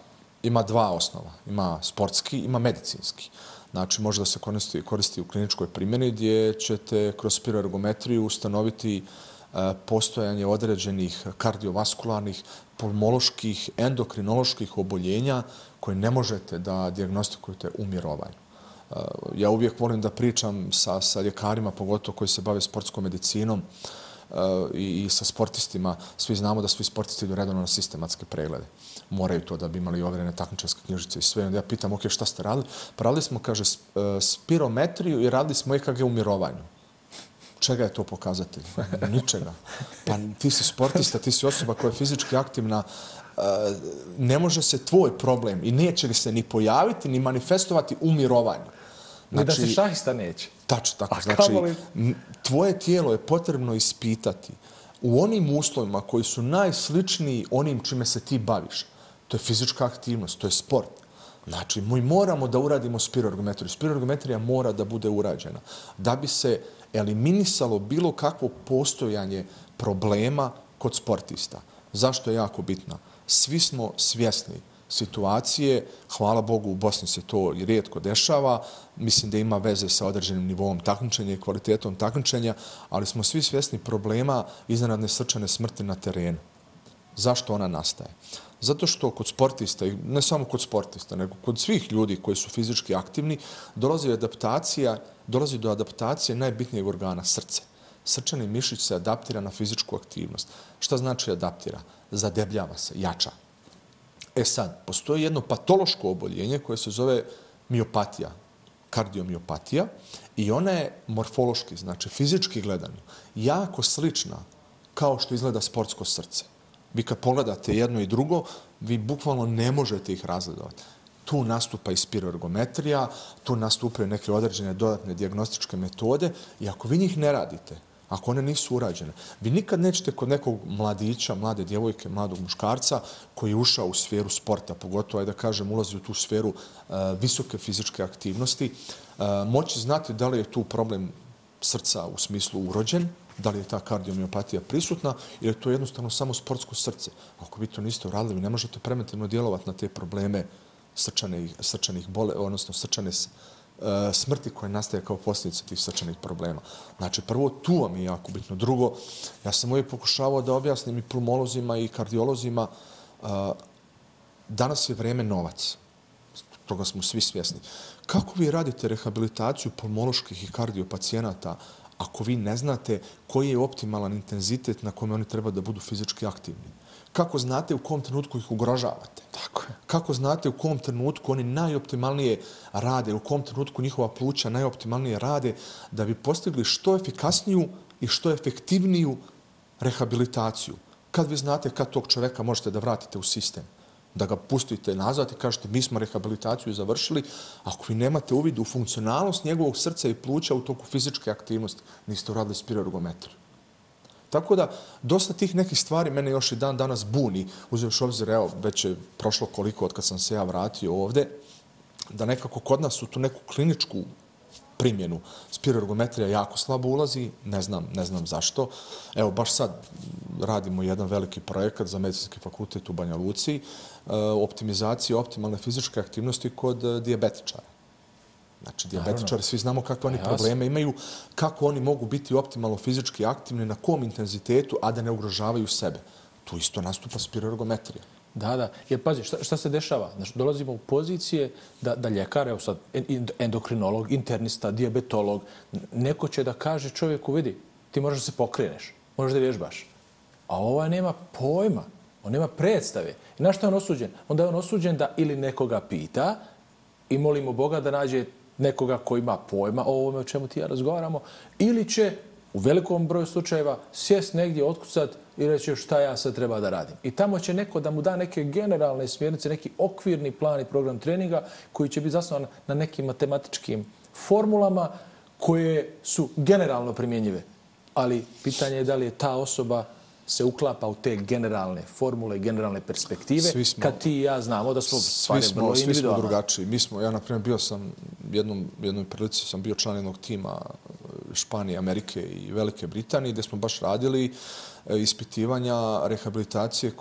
ima dva osnova. Ima sportski, ima medicinski. Znači, može da se koristi u kliničkoj primjeni gdje ćete kroz spiroergometriju ustanoviti postojanje određenih kardiovaskularnih, pulmoloških, endokrinoloških oboljenja koje ne možete da dijagnostikujete u mirovanju. Ja uvijek volim da pričam sa ljekarima, pogotovo koji se bave sportskom medicinom i sa sportistima. Svi znamo da svi sportisti idu redovno na sistematske preglede. Moraju to da bi imali overene takmičarske knjižice i sve. Onda ja pitam, ok, šta ste radili? Pa radili smo, kaže, spirometriju i radili smo EKG u mirovanju. Čega je to pokazatelj? Ničega. Pa ti si sportista, ti si osoba koja je fizički aktivna, ne može se tvoj problem i neće li se ni pojaviti, ni manifestovati u mirovanju. Znači, da se šahista neće. Tačno tako. Znači, tvoje tijelo je potrebno ispitati u onim uslovima koji su najsličniji onim čime se ti baviš. To je fizička aktivnost, to je sport. Znači, mi moramo da uradimo spiroergometriju. Spiroergometrija mora da bude urađena da bi se eliminisalo bilo kakvo postojanje problema kod sportista. Zašto je jako bitna? Svi smo svjesni situacije, hvala Bogu u Bosni se to i rijetko dešava, mislim da ima veze sa određenim nivom takmičenja i kvalitetom takmičenja, ali smo svi svjesni problema iznenadne srčane smrti na terenu. Zašto ona nastaje? Zato što kod sportista, i ne samo kod sportista, nego kod svih ljudi koji su fizički aktivni, dolazi do adaptacije najbitnijeg organa, srce. Srčani mišić se adaptira na fizičku aktivnost. Šta znači adaptira? Zadebljava se, jača. Sad, postoji jedno patološko oboljenje koje se zove miopatija, kardiomiopatija, i ona je morfološki, znači fizički gledano, jako slična kao što izgleda sportsko srce. Vi kad pogledate jedno i drugo, vi bukvalno ne možete ih razgledovati. Tu nastupa i spiroergometrija, tu nastupaju neke određene dodatne dijagnostičke metode i ako vi njih ne radite, ako one nisu urađene, vi nikad nećete kod nekog mladića, mlade djevojke, mladog muškarca koji je ušao u sferu sporta, pogotovo, da kažem, ulazi u tu sferu visoke fizičke aktivnosti, moći znati da li je tu problem srca u smislu urođen, da li je ta kardiomiopatija prisutna ili je to jednostavno samo sportsko srce. Ako vi to niste uradili, vi ne možete preventivno djelovati na te probleme srčanih odnosno srčane smrti koje nastaje kao posljedica tih srčanih problema. Znači, prvo, tu vam je jako bitno. Drugo, ja sam uvijek pokušavao da objasnim i pulmolozima i kardiolozima, danas je vrijeme novac. Toga smo svi svjesni. Kako vi radite rehabilitaciju pulmoloških i kardiopacijenata ako vi ne znate koji je optimalan intenzitet na kome oni treba da budu fizički aktivni? Kako znate u kom trenutku ih ugrožavate? Tako je. Kako znate u kom trenutku oni najoptimalnije rade, u kom trenutku njihova pluća najoptimalnije rade da bi postigli što efikasniju i što efektivniju rehabilitaciju? Kad vi znate kad tog čoveka možete da vratite u sistem, da ga pustite nazad i kažete mi smo rehabilitaciju završili, ako vi nemate uvid u funkcionalnost njegovog srca i pluća u toku fizičke aktivnosti, niste uradili spiroergometriju. Tako da, dosta tih nekih stvari mene još i dan danas buni, uzevši obzir, evo, već je prošlo koliko od kad sam se ja vratio ovde, da nekako kod nas u tu neku kliničku primjenu spiroergometrija jako slabo ulazi, ne znam zašto. Evo, baš sad radimo jedan veliki projekat za medicinski fakultet u Banja Luci, optimizacija optimalne fizičke aktivnosti kod dijabetičara. Znači, dijabetičari, svi znamo kakve oni probleme imaju, kako oni mogu biti optimalno fizički aktivni, na kom intenzitetu, a da ne ugrožavaju sebe. Tu isto nastupa spiroergometrija. Da. Jer pazi, šta se dešava? Znači, dolazimo u pozicije da ljekar, evo sad, endokrinolog, internista, dijabetolog, neko će da kaže čovjeku, vidi, ti možeš da se pokreneš, možeš da vježbaš. A ovaj nema pojma, on nema predstave. I na što je on osuđen? Onda je on osuđen da ili nekoga pita i molimo Boga da nađe nekoga koji ima pojma o ovome o čemu ti ja razgovaramo, ili će u velikom broju slučajeva sjest negdje, otkucat i reći šta ja sad treba da radim. I tamo će neko da mu da neke generalne smjernice, neki okvirni plan i program treninga koji će biti zasnovan na nekim matematičkim formulama koje su generalno primjenjive. Ali pitanje je da li je ta osoba se uklapa u te generalne formule, generalne perspektive, kad ti i ja znamo da smo stvari vrlo individualne. Svi smo drugačiji. Ja, na primjer, bio sam jednoj prilici sam bio član jednog tima Španije, Amerike i Velike Britanije, gdje smo baš radili ispitivanja rehabilitacije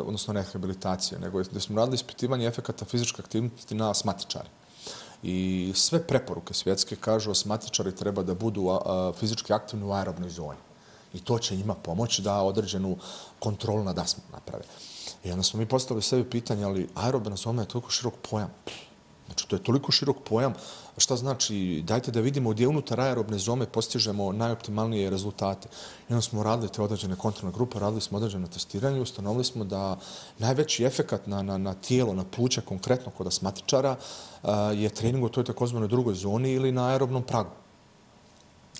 odnosno rehabilitacije, nego gdje smo radili ispitivanje efekata fizičke aktivnosti na asmatičare. I sve preporuke svjetske kažu asmatičari treba da budu fizički aktivni u aerobnoj zoni. I to će njima pomoći da određenu kontrolu nad astmom naprave. I onda smo mi postavili sebi pitanje, ali aerobna zona je toliko širok pojam. Znači, to je toliko širok pojam. Šta znači, dajte da vidimo gdje unutar aerobne zone postižemo najoptimalnije rezultate. I onda smo radili te određene kontrolne grupe, radili smo određeno testiranje i ustanovili smo da najveći efekat na tijelo, na pluća, konkretno kod asmatičara, je trening u toj takozvanoj drugoj zoni ili na aerobnom pragu.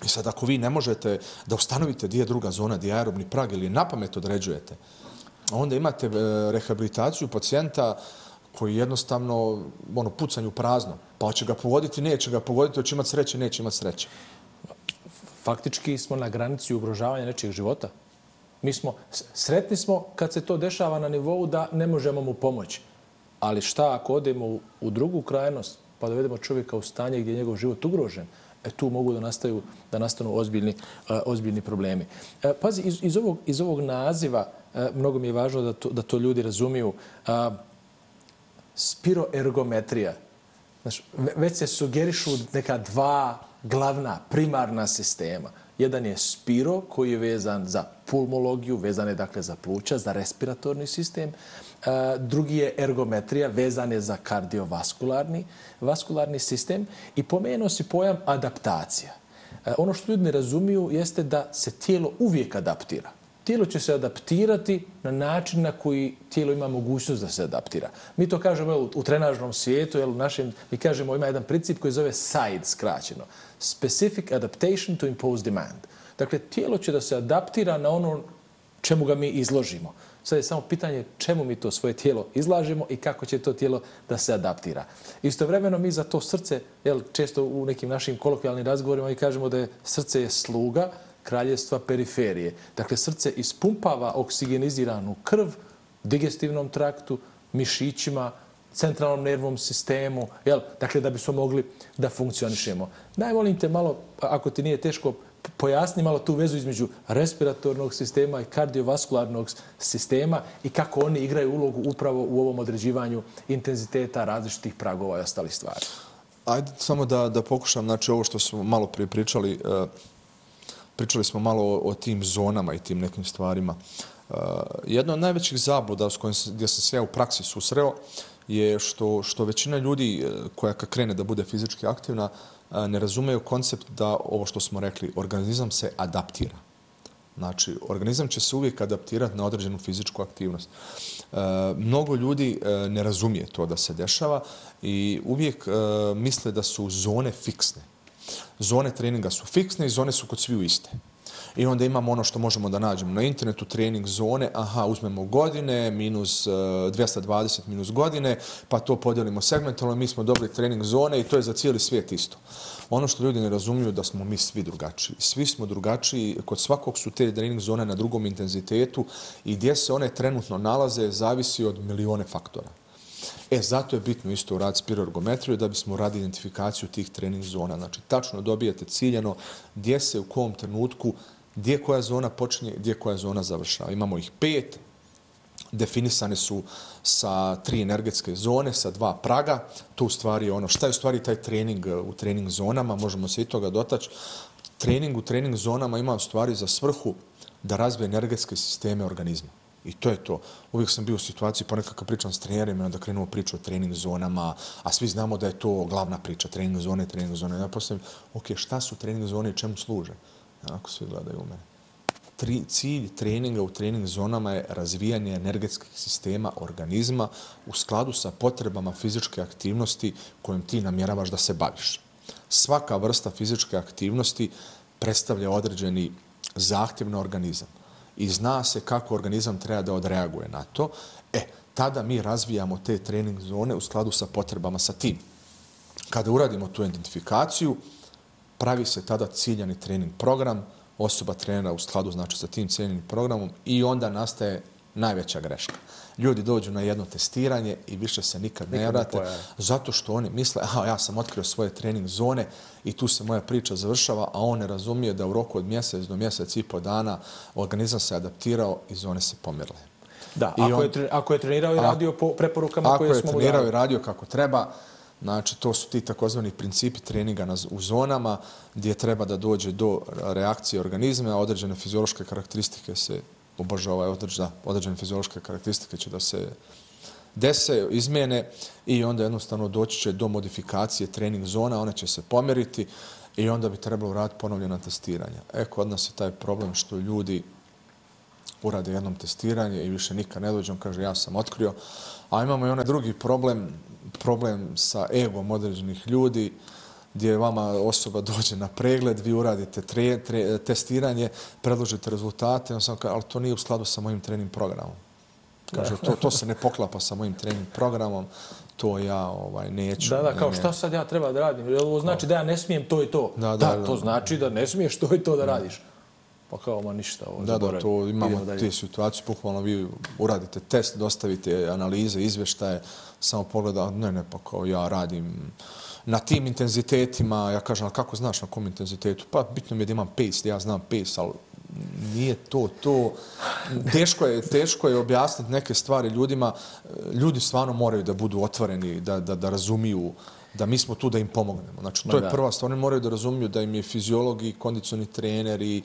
I sad, ako vi ne možete da ustanovite gdje je druga zona, gdje je aerobni prag ili napamet određujete, onda imate rehabilitaciju pacijenta koji jednostavno pucanju prazno. Pa hoće ga pogoditi, neće ga pogoditi, hoće imati sreće, neće imati sreće. Faktički smo na granici ugrožavanja nečijeg života. Sretni smo kad se to dešava na nivou da ne možemo mu pomoći. Ali šta ako odemo u drugu krajnost pa dovedemo čovjeka u stanje gdje je njegov život ugrožen? Tu mogu da nastanu ozbiljni problemi. Pazi, iz ovog naziva, mnogo mi je važno da to ljudi razumiju, spiroergometrija. Znači, već se sugerišu neka dva glavna, primarna sistema. Jedan je spiro, koji je vezan za pulmologiju, vezan je dakle za pluća, za respiratorni sistem. Drugi je ergometrija, vezan je za kardiovaskularni sistem. I pomenuo si pojam adaptacija. Ono što ljudi ne razumiju jeste da se tijelo uvijek adaptira. Tijelo će se adaptirati na način na koji tijelo ima mogućnost da se adaptira. Mi to kažemo u trenažnom svijetu, mi kažemo ima jedan princip koji zove SIDE skraćeno. Specific Adaptation to Impose Demand. Dakle, tijelo će da se adaptira na ono čemu ga mi izložimo. Sad je samo pitanje čemu mi to svoje tijelo izlažemo i kako će to tijelo da se adaptira. Istovremeno mi za to srce, često u nekim našim kolokvijalnim razgovorima mi kažemo da je srce je sluga kraljevstva periferije. Dakle, srce ispumpava oksigeniziranu krv digestivnom traktu, mišićima, centralnom nervnom sistemu, dakle, da bismo mogli da funkcionišemo. Najmolim te malo, ako ti nije teško, pojasni malo tu vezu između respiratornog sistema i kardiovaskularnog sistema i kako oni igraju ulogu upravo u ovom određivanju intenziteta različitih pragova i ostalih stvari. Ajde samo da pokušam, znači ovo što smo malo prije pričali, pričali smo malo o tim zonama i tim nekim stvarima. Jedna od najvećih zabluda gdje sam se ja u praksi susreo je što većina ljudi koja kad krene da bude fizički aktivna ne razumeju koncept da ovo što smo rekli, organizam se adaptira. Znači, organizam će se uvijek adaptirati na određenu fizičku aktivnost. Mnogo ljudi ne razumije to da se dešava i uvijek misle da su zone fiksne. Zone treninga su fiksne i zone su kod sviju iste. I onda imamo ono što možemo da nađemo na internetu, trening zone, uzmemo godine, minus 220 minus godine, pa to podijelimo segmentalno, mi smo dobili trening zone i to je za cijeli svijet isto. Ono što ljudi ne razumiju da smo mi svi drugačiji. Svi smo drugačiji, kod svakog su te trening zone na drugom intenzitetu i gdje se one trenutno nalaze zavisi od milione faktora. Zato je bitno isto uraditi spiroergometriju da bismo radili identifikaciju tih trening zona. Znači, tačno dobijete ciljano gdje se u kom trenutku, gdje koja zona počinje, gdje koja zona završava. Imamo ih 5, definisane su sa 3 energetske zone, sa 2 praga. To u stvari je ono, šta je u stvari taj trening u trening zonama, možemo se i toga dotaći. Trening u trening zonama ima u stvari za svrhu da razvije energetske sisteme organizma. I to je to. Uvijek sam bio u situaciji, ponekad kad pričam s trenerima, da krenemo priču o trening zonama, a svi znamo da je to glavna priča, trening zone. Ja postavim, šta su trening zone i čemu služe? Ako svi gledaju u mene. Cilj treninga u trening zonama je razvijanje energetskih sistema organizma u skladu sa potrebama fizičke aktivnosti kojom ti namjeravaš da se baviš. Svaka vrsta fizičke aktivnosti predstavlja određeni zahtjev na organizam. I zna se kako organizam treba da odreaguje na to, tada mi razvijamo te trening zone u skladu sa potrebama sa tim. Kada uradimo tu identifikaciju, pravi se tada ciljani trening program osoba trenera u skladu znači sa tim cijenjenim programom i onda nastaje najveća greška. Ljudi dođu na jedno testiranje i više se nikad ne vrate zato što oni misle ja sam otkrio svoje trening zone i tu se moja priča završava, a on ne razumije da u roku od mjesec do mjesec i po dana organizam se adaptirao i zone se pomerile. Da, ako je trenirao i radio po preporukama koje smo mu dali. Ako je trenirao i radio kako treba, znači to su ti takozvani principi treninga u zonama gdje treba da dođe do reakcije organizma, određene fiziološke karakteristike se određene fiziološke karakteristike će da se dese, izmjene i onda jednostavno doći će do modifikacije trening zona, one će se pomjeriti i onda bi trebalo uraditi ponovljena testiranja. Kod nas je taj problem što ljudi urade jednom testiranje i više nikad ne dođe, on kaže ja sam otkrio. A imamo i onaj drugi problem sa egom određenih ljudi, gdje vama osoba dođe na pregled, vi uradite testiranje, predložite rezultate, on sam kaže, ali to nije u skladu sa mojim trening programom. Kaže, to se ne poklapa sa mojim trening programom, to ja neću. Kao šta sad ja treba da radim? Jer ovo znači da ja ne smijem to i to. Da, to znači da ne smiješ to i to da radiš. Pa kao, ma ništa. To imamo te situacije, bukvalno vi uradite test, dostavite analize, izvještaje, samo pogleda, ne, pa kao ja radim na tim intenzitetima, ja kažem, ali kako znaš na kom intenzitetu? Pa bitno mi je da imam pace, ja znam pace, ali nije to. Teško je objasniti neke stvari ljudima. Ljudi stvarno moraju da budu otvoreni, da razumiju da mi smo tu da im pomognemo. Znači, to je prva stvar. Oni moraju da razumiju da im je fiziolog i kondicioni trener i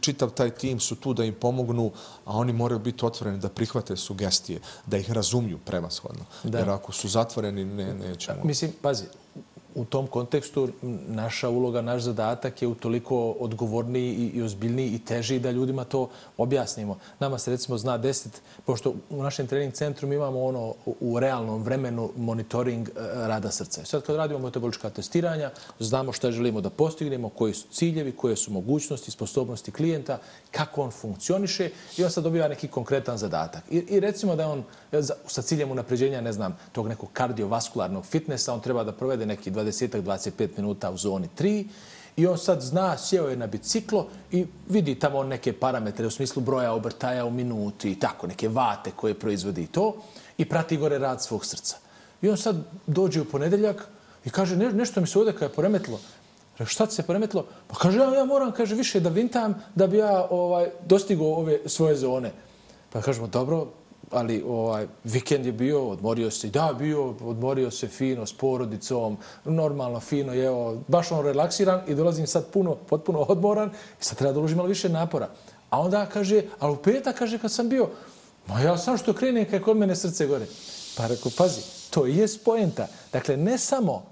čitav taj tim su tu da im pomognu, a oni moraju biti otvoreni da prihvate sugestije, da ih razumiju prevashodno. Jer ako su zatvoreni, nećemo. Mislim, pazi, u tom kontekstu naša uloga, naš zadatak je utoliko odgovorniji i ozbiljniji i teži da ljudima to objasnimo. Nama se recimo zna desiti, pošto u našem trening centru mi imamo u realnom vremenu monitoring rada srca. Sad kad radimo metabolička testiranja, znamo šta želimo da postignemo, koji su ciljevi, koje su mogućnosti, sposobnosti klijenta, kako on funkcioniše i on sad dobiva neki konkretan zadatak. I recimo da on sa ciljem unapređenja, ne znam, tog nekog kardiovaskularnog fitnessa, on treba da provede neki 20-25 minuta u zoni 3 i on sad zna, sjeo je na biciklo i vidi tamo neke parametre u smislu broja obrtaja u minuti i tako, neke vate koje proizvodi to i prati gore rad svog srca. I on sad dođe u ponedeljak i kaže, nešto mi se ovdje kada je poremetilo. Šta ti se poremetilo? Pa kaže, ja moram više da vintam da bi ja dostigao ove svoje zone. Pa kažemo, dobro, ali vikend je bio, odmorio se, odmorio se fino s porodicom, normalno, fino, baš relaksiran i dolazim sad potpuno odmoran i sad treba da uložim malo više napora. A onda kaže, ali u petak, kaže, kad sam bio, ja sam što krenem kad je kod mene srce gore. Pa rekao, pazi, to je poenta. Dakle, ne samo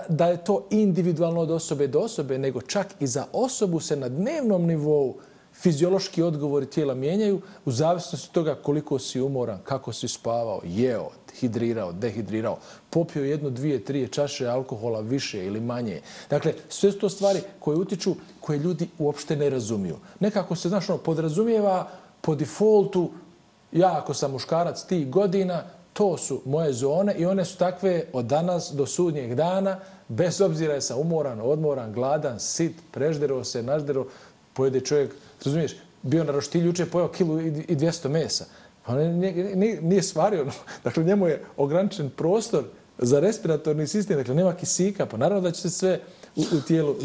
da je to individualno od osobe do osobe, nego čak i za osobu se na dnevnom nivou fiziološki odgovori tijela mijenjaju u zavisnosti od toga koliko si umoran, kako si spavao, jeo, hidrirao, dehidrirao, popio 1, 2, 3 čaše alkohola više ili manje. Dakle, sve su to stvari koje utiču, koje ljudi uopšte ne razumiju. Nekako se, podrazumijeva po defaultu, ja ako sam muškarac tih godina, to su moje zone i one su takve od danas do sudnjeg dana, bez obzira je sam umoran, odmoran, gladan, sit, prežderao se, nažderao, pojede čovjek, razumiješ, bio na roštilju, juče pojeo 1,2 kg mesa. Pa nije svario. Dakle, njemu je ograničen prostor za respiratorni sistem, dakle, nema kisika, pa naravno da će se sve u tijelu...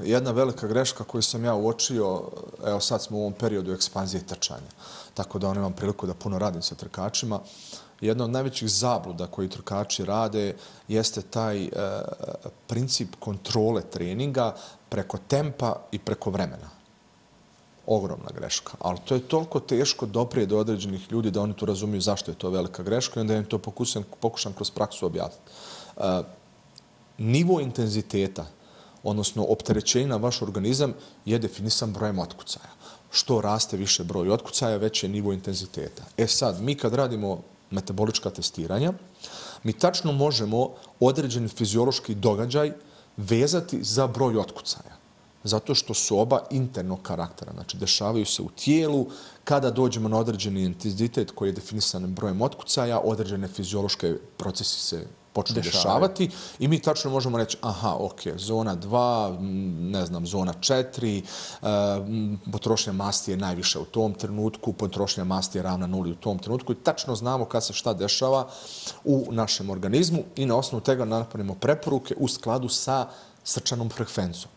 Jedna velika greška koju sam ja uočio, evo sad smo u ovom periodu ekspanzije trčanja, tako da imam priliku da puno radim sa trkačima. Jedna od najvećih zabluda koji trkači rade jeste taj princip kontrole treninga preko tempa i preko vremena. Ogromna greška. Ali to je toliko teško doprije do određenih ljudi da oni to razumiju zašto je to velika greška i onda im to pokušam kroz praksu objasniti. Nivo intenziteta, odnosno opterećenja na vaš organizam je definisan brojem otkucaja. Što raste više broj otkucaja, veći je nivo intenziteta. Sad, mi kad radimo metabolička testiranja, mi tačno možemo određeni fiziološki događaj vezati za broj otkucaja. Zato što su oba internog karaktera. Znači, dešavaju se u tijelu. Kada dođemo na određeni intenzitet koji je definisan brojem otkucaja, određene fiziološke procesi se počnu dešavati i mi tačno možemo reći, aha, ok, zona 2, ne znam, zona 4, potrošnja masti je najviše u tom trenutku, potrošnja masti je ravna nuli u tom trenutku i tačno znamo kad se šta dešava u našem organizmu i na osnovu toga napravimo preporuke u skladu sa srčanom frekvencijom.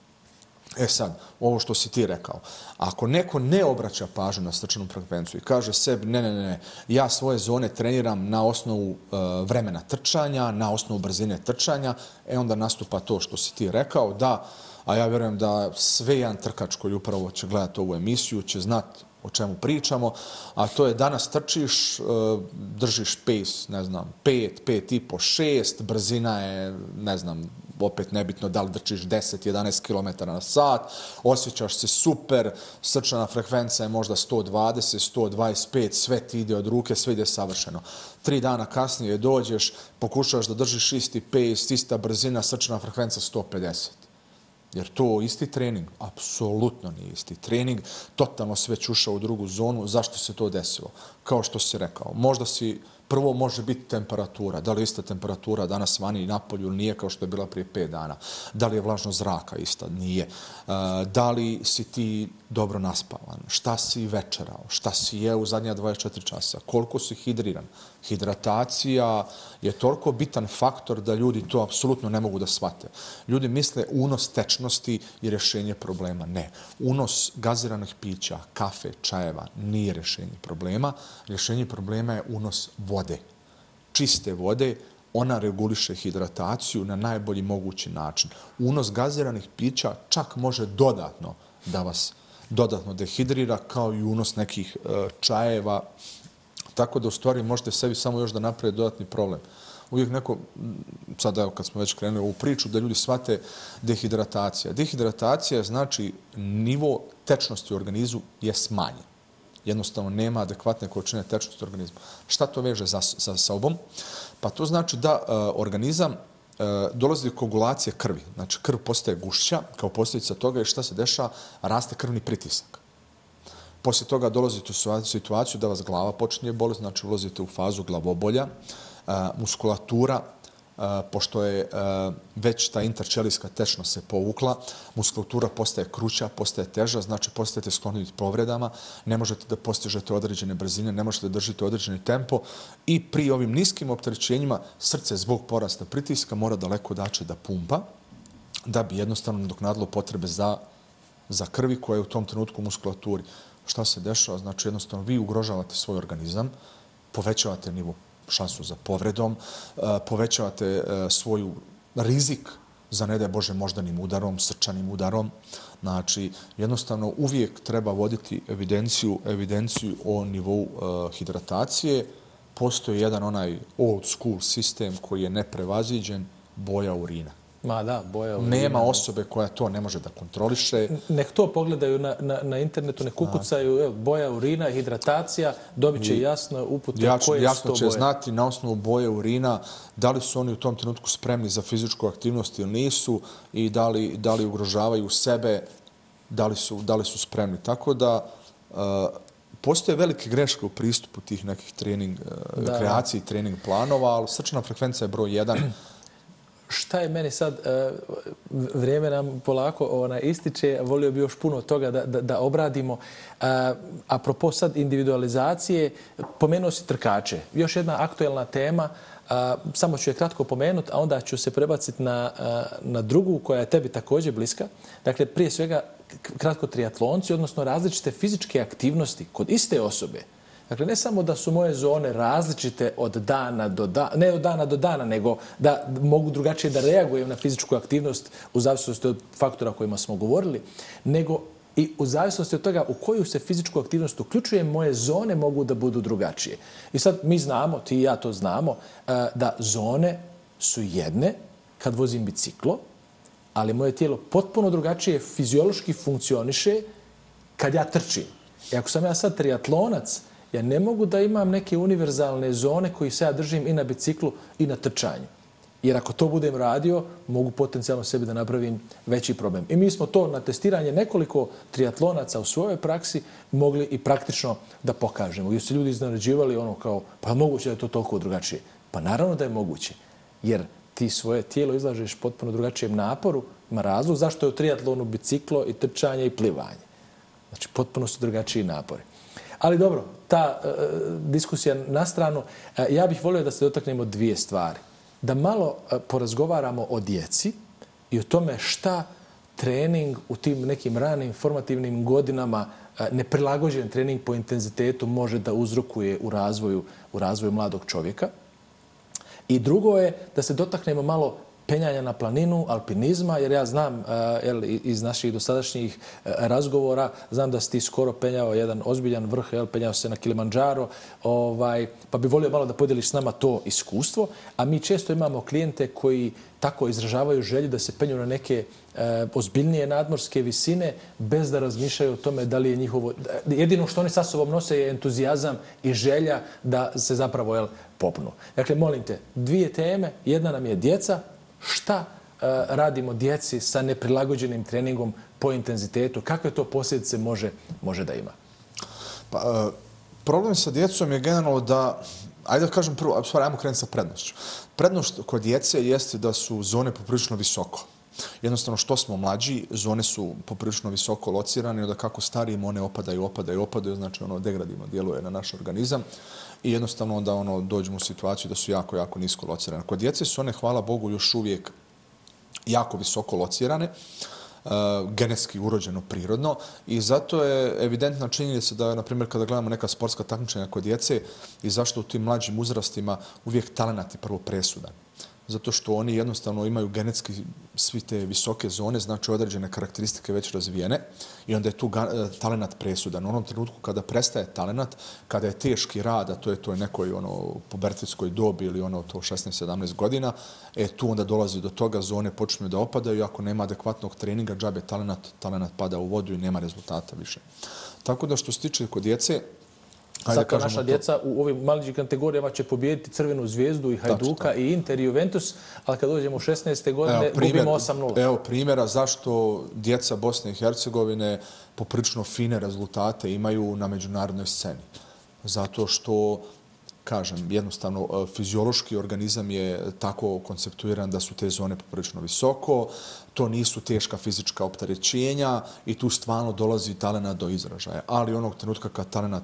E sad, ovo što si ti rekao, ako neko ne obraća pažnju na srčanu frekvenciju i kaže sebi ne, ja svoje zone treniram na osnovu vremena trčanja, na osnovu brzine trčanja, onda nastupa to što si ti rekao, da, a ja vjerujem da sve jedan trkač koji upravo će gledati ovu emisiju će znati o čemu pričamo, a to je danas trčiš, držiš pace, ne znam, 5, 5,5, 6, brzina je, ne znam, opet nebitno da li drčiš 10-11 km na sat, osjećaš se super, srčana frekvencija je možda 120, 125, sve ti ide od ruke, sve ide savršeno. 3 dana kasnije dođeš, pokušavaš da držiš isti pace, ista brzina, srčana frekvencija 150. Jer to isti trening? Apsolutno nije isti trening. Totalno si već ušao u drugu zonu. Zašto se to desilo? Kao što si rekao, možda si prvo može biti temperatura. Da li je ista temperatura danas vani i napolju ili nije kao što je bila prije 5 dana? Da li je vlažnost zraka ista? Nije. Da li si ti dobro naspavan? Šta si večerao? Šta si jeo u zadnja 24 časa? Koliko si hidriran? Hidratacija je toliko bitan faktor da ljudi to apsolutno ne mogu da shvate. Ljudi misle unos tečnosti i rješenje problema. Ne. Unos gaziranih pića, kafe, čajeva nije rješenje problema. Rješenje problema je unos vode. Čiste vode, ona reguliše hidrataciju na najbolji mogući način. Unos gaziranih pića čak može dodatno da vas dodatno dehidrira, kao i unos nekih čajeva. Tako da u stvari možete sebi samo još da naprave dodatni problem. Uvijek neko, sad evo kad smo već krenuli u priču, da ljudi shvate dehidratacija. Dehidratacija znači nivo tečnosti u organizmu je smanjen. Jednostavno nema adekvatne količine tečnosti u organizmu. Šta to veže sa sobom? Pa to znači da organizam dolazi do koagulacije krvi. Znači krv postaje gušća, kao posljedica toga je šta se dešava, raste krvni pritisak. Poslije toga dolazite u situaciju da vas glava počinje bolesti, znači ulazite u fazu glavobolja, muskulatura, pošto je već ta interčelijska tečnost se povukla, muskulatura postaje kruća, postaje teža, znači postajete skloni povredama, ne možete da postižete određene brzine, ne možete da držite određeni tempo i pri ovim niskim opterećenjima srce zbog porasta pritiska mora daleko dače da pumpa, da bi jednostavno nadoknadilo potrebe za krvi koja je u tom trenutku u muskulaturi. Šta se dešava? Znači jednostavno vi ugrožavate svoj organizam, povećavate nivo šansu za povredom, povećavate svoju rizik za, ne daj Bože, moždanim udarom, srčanim udarom. Znači, jednostavno uvijek treba voditi evidenciju o nivou hidratacije. Postoji jedan onaj old school sistem koji je neprevaziđen, boja urina. Ma da, boja urina. Nema osobe koja to ne može da kontroliše. Nek to pogledaju na internetu, nek ukucaju boja urina, hidratacija, dobit će jasno upute koje su to boje. Jasno će znati na osnovu boje urina da li su oni u tom trenutku spremni za fizičku aktivnost ili nisu i da li ugrožavaju sebe, da li su spremni. Tako da postoje velike greške u pristupu tih nekih kreaciji trening planova, ali srčana frekvencija je broj 1. Šta je meni sad, vrijeme nam polako ističe, volio bi još puno toga da obradimo. Apropo sad individualizacije, pomenuo si trkače. Još jedna aktuelna tema, samo ću je kratko pomenuti, a onda ću se prebaciti na drugu koja je tebi također bliska. Dakle, prije svega kratko triatlonci, odnosno različite fizičke aktivnosti kod iste osobe. Dakle, ne samo da su moje zone različite od dana do dana, ne od dana do dana, nego da mogu drugačije da reagujem na fizičku aktivnost u zavisnosti od faktora o kojima smo govorili, nego i u zavisnosti od toga u koju se fizičku aktivnost uključuje, moje zone mogu da budu drugačije. I sad mi znamo, ti i ja to znamo, da zone su jedne kad vozim biciklo, ali moje tijelo potpuno drugačije fiziološki funkcioniše kad ja trčim. I ako sam ja sad triatlonac, ja ne mogu da imam neke univerzalne zone koje se ja držim i na biciklu i na trčanju. Jer ako to budem radio, mogu potencijalno sebi da napravim veći problem. I mi smo to na testiranje nekoliko triatlonaca u svojoj praksi mogli i praktično da pokažemo. Gdje su ljudi iznenađivali ono kao, pa moguće da je to toliko drugačije. Pa naravno da je moguće. jer ti svoje tijelo izlažeš potpuno drugačijem naporu, ima razlog zašto je u triatlonu biciklo i trčanje i plivanje. Znači, potpuno su drugačiji napori. Ali dobro, ta diskusija na stranu, ja bih volio da se dotaknemo dvije stvari. Da malo porazgovaramo o djeci i o tome šta trening u tim nekim ranim formativnim godinama, neprilagođen trening po intenzitetu može da uzrokuje u razvoju mladog čovjeka. I drugo je da se dotaknemo malo penjanja na planinu, alpinizma, jer ja znam iz naših dosadašnjih razgovora, znam da si ti skoro penjao jedan ozbiljan vrh, penjao se na Kilimandžaro, pa bi volio malo da podijeliš s nama to iskustvo, a mi često imamo klijente koji tako izražavaju želju da se penju na neke ozbiljnije nadmorske visine bez da razmišljaju o tome da li je njihovo... Jedino što oni sa sobom nose je entuzijazam i želja da se zapravo popnu. Dakle, molim te, dvije teme. Jedna nam je djeca. Šta radimo djeci sa neprilagođenim treningom po intenzitetu? Kakve to posljedice može da ima? Pa, problem sa djecom je generalno da, ajde da kažem prvo, ajmo krenuti sa prednošću. Prednost kod djece jeste da su zone poprilično visoko. Jednostavno, što smo mlađi, zone su poprilično visoko locirane, da kako starijimo, one opadaju, znači degradivno djeluje na naš organizam i jednostavno onda dođemo u situaciju da su jako, jako nisko locirane. Kod djece su one, hvala Bogu, još uvijek jako visoko locirane, genetski urođeno prirodno i zato je evidentna činjenica da, na primjer, kada gledamo neka sportska takmičenja kod djece i zašto u tim mlađim uzrastima uvijek talenat je prvo presudan. Zato što oni jednostavno imaju genetski svi te visoke zone, znači određene karakteristike već razvijene i onda je tu talenat presudan. U onom trenutku kada prestaje talenat, kada je teški rad, a to je nekoj pubertetskoj dobi ili to 16-17 godina, tu onda dolazi do toga, zone počinju da opadaju i ako nema adekvatnog treninga, džabe talenat pada u vodu i nema rezultata više. Tako da što se tiče kod djece, zato naša djeca u ovim mlađim kategorijama će pobijediti Crvenu zvijezdu i Hajduka i Inter i Juventus, ali kad dođemo u 16. godine gubimo 8-0. Evo primjera zašto djeca Bosne i Hercegovine poprilično fine rezultate imaju na međunarodnoj sceni. Zato što, kažem, jednostavno fiziološki organizam je tako konceptuiran da su te zone poprilično visoko, to nisu teška fizička opterećenja i tu stvarno dolazi talenat do izražaja. Ali onog trenutka kad talenat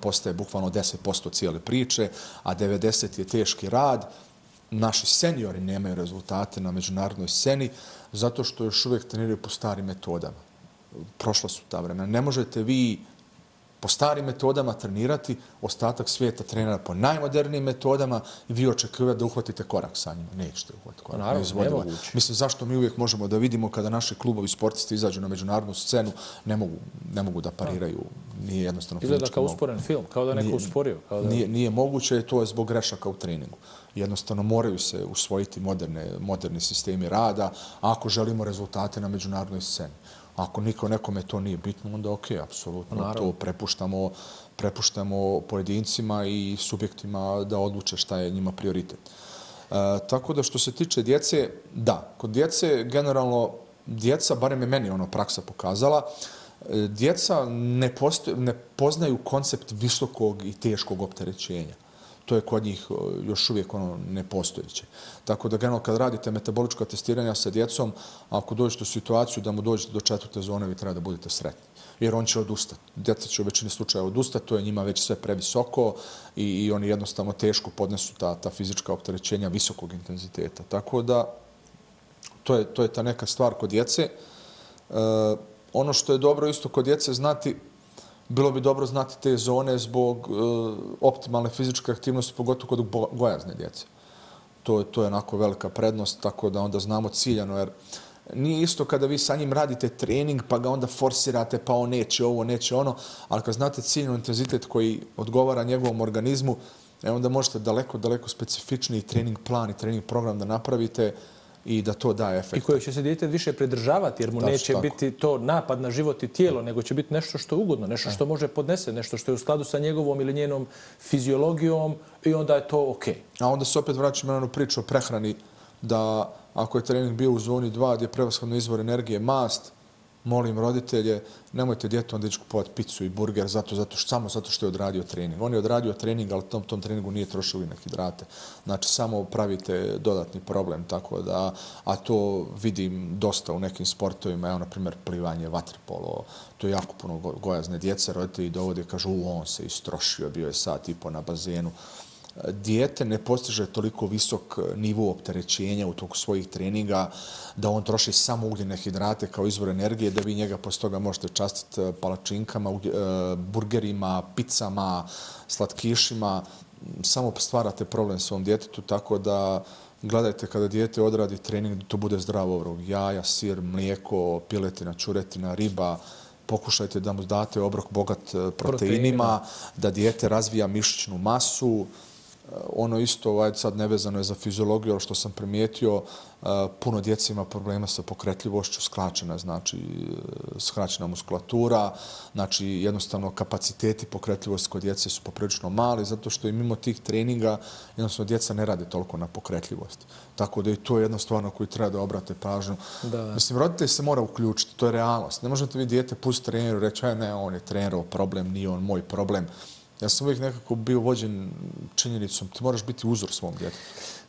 postaje bukvalno 10% cijele priče, a 90% je teški rad, naši seniori nemaju rezultate na međunarodnoj sceni zato što još uvijek treniraju po starim metodama. Prošla su ta vremena. Ne možete vi po starim metodama trenirati, ostatak svijeta trenira po najmodernijim metodama i vi očekujete da uhvatite korak sa njima. Nećete uhvatiti korak. Naravno, nemoguće. Mislim, zašto mi uvijek možemo da vidimo kada naši klubovi sportisti izađu na međunarodnu scenu, ne mogu da pariraju. Nije jednostavno fizički. Izgleda kao usporen film, kao da neko usporio. Nije moguće, to je zbog grešaka u treningu. Jednostavno moraju se usvojiti moderni sistemi rada ako želimo rezultate na međunarodnoj sceni. Ako nekome to nije bitno, onda ok, apsolutno. To prepuštamo pojedincima i subjektima da odluče šta je njima prioritet. Tako da što se tiče djece, da, kod djece generalno, barem je meni praksa pokazala, djeca ne poznaju koncept visokog i teškog opterećenja. To je kod njih još uvijek nepostojeće. Tako da generalno kad radite metabolička testiranja sa djecom, ako dođete u situaciju da mu dođete do 4. zone, vi treba da budete sretni. Jer on će odustati. Djeca će u većini slučaja odustati, to je njima već sve previsoko i oni jednostavno teško podnesu ta fizička opterećenja visokog intenziteta. Tako da to je ta neka stvar kod djece. Ono što je dobro isto kod djece znati, bilo bi dobro znati te zone zbog optimalne fizičke aktivnosti, pogotovo kod gojazne djece. To je onako velika prednost, tako da onda znamo ciljano, jer nije isto kada vi sa njim radite trening, pa ga onda forsirate, pa on neće ovo, neće ono, ali kad znate ciljno intenzitet koji odgovara njegovom organizmu, onda možete daleko specifičniji trening plan i trening program da napravite i da to daje efekt. I koje će se dijete više pridržavati, jer mu neće biti to napad na život i tijelo, nego će biti nešto što je ugodno, nešto što može podnese, nešto što je u skladu sa njegovom ili njenom fiziologijom i onda je to ok. A onda se opet vraćamo na onu priču o prehrani, da ako je trening bio u zoni 2 gdje je prevashodno izvor energije mast, molim roditelje, nemojte djetu onda ići kupovati picu i burger samo zato što je odradio trening. On je odradio trening, ali tom treningu nije trošio na hidrate. Znači, samo pravite dodatni problem, tako da, a to vidim dosta u nekim sportovima, evo, na primjer, plivanje, vaterpolo, to je jako puno gojazne djece, roditelji dovode, kažu, on se istrošio, bio je sat i po na bazenu. Dijete ne postiže toliko visok nivo opterećenja u toku svojih treninga da on troši samo ugljene hidrate kao izvor energije, da vi njega posle toga možete častiti palačinkama, burgerima, picama, slatkišima. Samo stvarate problem svom djetetu, tako da gledajte kada dijete odradi trening da to bude zdravo obrok. Jaja, sir, mlijeko, piletina, čuretina, riba. Pokušajte da mu date obrok bogat proteinima, da dijete razvija mišićnu masu. Ono isto, sad nevezano je za fiziologiju, ali što sam primijetio, puno djece ima problema sa pokretljivošću, skraćena muskulatura, znači jednostavno kapaciteti pokretljivosti kod djece su poprilično mali, zato što i mimo tih treninga jednostavno djeca ne rade toliko na pokretljivosti. Tako da i to je jedna stvar na koju treba da obrate pažnju. Mislim, roditelj se mora uključiti, to je realnost. Ne možete vi dijete pustiti treneru i reći, ne, on je trenerov problem, nije on moj problem. Ja sam uvijek nekako bio vođen činjenicom, ti moraš biti uzor svom djetetu.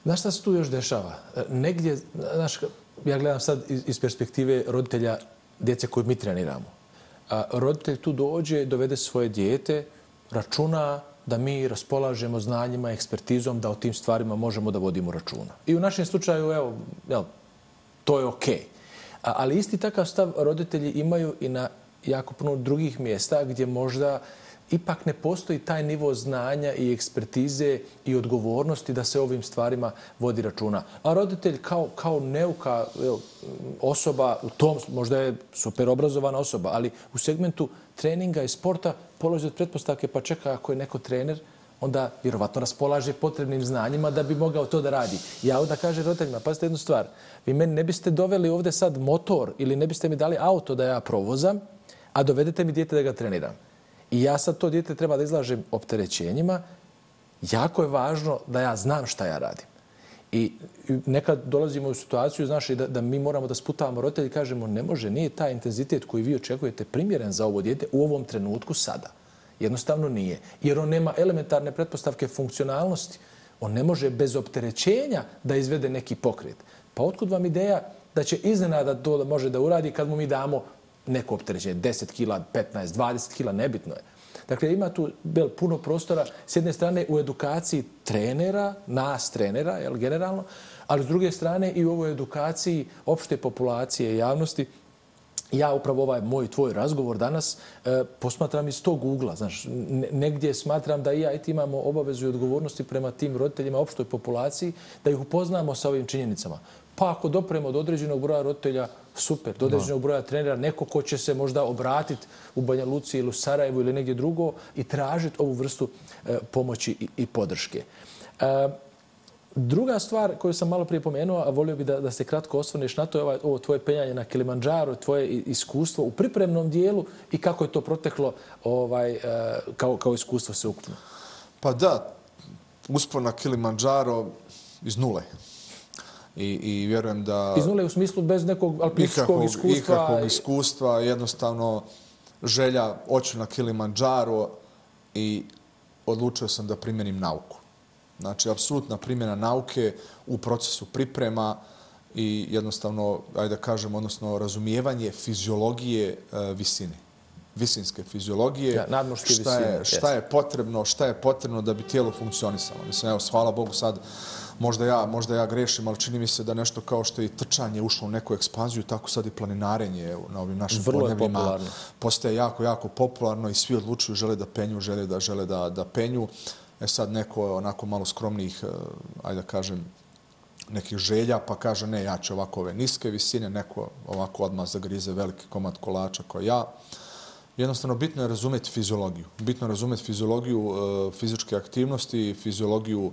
Znaš šta se tu još dešava? Negdje, znaš, ja gledam sad iz perspektive roditelja djece koju mi treniramo. Roditelj tu dođe, dovede svoje dijete, računa da mi raspolažemo znanjima, ekspertizom, da o tim stvarima možemo da vodimo računa. I u našem slučaju, evo, to je okej. Ali isti takav stav roditelji imaju i na jako puno drugih mjesta gdje možda ipak ne postoji taj nivo znanja i ekspertize i odgovornosti da se ovim stvarima vodi računa. A roditelj kao neuka osoba, u tom možda je super obrazovana osoba, ali u segmentu treninga i sporta polazi od pretpostavke, pa čeka, ako je neko trener, onda vjerovatno raspolaže potrebnim znanjima da bi mogao to da radi. Ja onda kažem roditeljima, pazite jednu stvar, vi meni ne biste doveli ovdje sad motor ili ne biste mi dali auto da ja provozam, a dovedete mi dijete da ga treniram. I ja sad to dijete treba da izlažem opterećenjima. Jako je važno da ja znam šta ja radim. I nekad dolazimo u situaciju, znaš, da mi moramo da sputavamo roditelji i kažemo ne može, nije taj intenzitet koji vi očekujete primjeren za ovo dijete u ovom trenutku sada. Jednostavno nije. Jer on nema elementarne pretpostavke funkcionalnosti. On ne može bez opterećenja da izvede neki pokret. Pa otkud vam ideja da će iznenada to može da uradi kad mu mi damo neko opterećenje, 10 kila, 15, 20 kila, nebitno je. Dakle, ima tu puno prostora, s jedne strane u edukaciji trenera, nas trenera, generalno, ali s druge strane i u ovoj edukaciji opšte populacije i javnosti. Ja upravo ovaj moj tvoj razgovor danas posmatram iz tog ugla. Znaš, negdje smatram da i ja i ti imamo obavezu i odgovornosti prema tim roditeljima, opštoj populaciji, da ih upoznamo sa ovim činjenicama. Pa ako dopremo do određenog broja roditelja, super, do određenog broja trenera, neko ko će se možda obratiti u Banja Luci ili u Sarajevu ili negdje drugo i tražiti ovu vrstu pomoći i podrške. Druga stvar koju sam malo prije pomenuo, a volio bi da se kratko osvrneš na to, je ovo tvoje penjanje na Kilimandžaru, tvoje iskustvo u pripremnom dijelu i kako je to proteklo kao iskustvo sveukupno. Pa da, uspon na Kilimandžaro iz nule. I vjerujem da... Iz nule u smislu bez nekog alpinističkog iskustva? Ikakvog iskustva, jednostavno želja oću na Kilimandžaro i odlučio sam da primjenim nauku. Znači, apsolutna primjena nauke u procesu priprema i jednostavno, ajde da kažem, odnosno razumijevanje fiziologije visine. Visinske fiziologije, nadmorske visine. Šta je potrebno da bi tijelo funkcionisalo. Mislim, evo, hvala Bogu sad, možda ja grešim, ali čini mi se da nešto kao što je i trčanje ušlo u neku ekspanziju, tako sad i planinarenje na ovim našim podnebljima postaje jako, jako popularno i svi odlučuju, žele da penju, žele da penju. Sad neko onako malo skromnijih, ajde da kažem, nekih želja, pa kaže ne, ja ću ovako ove niske visine, neko ovako odmah zagrize veliki komad kolača kao ja. Jednostavno, bitno je razumjeti fiziologiju. Bitno je razumjeti fiziologiju fizičke aktivnosti, fiziologiju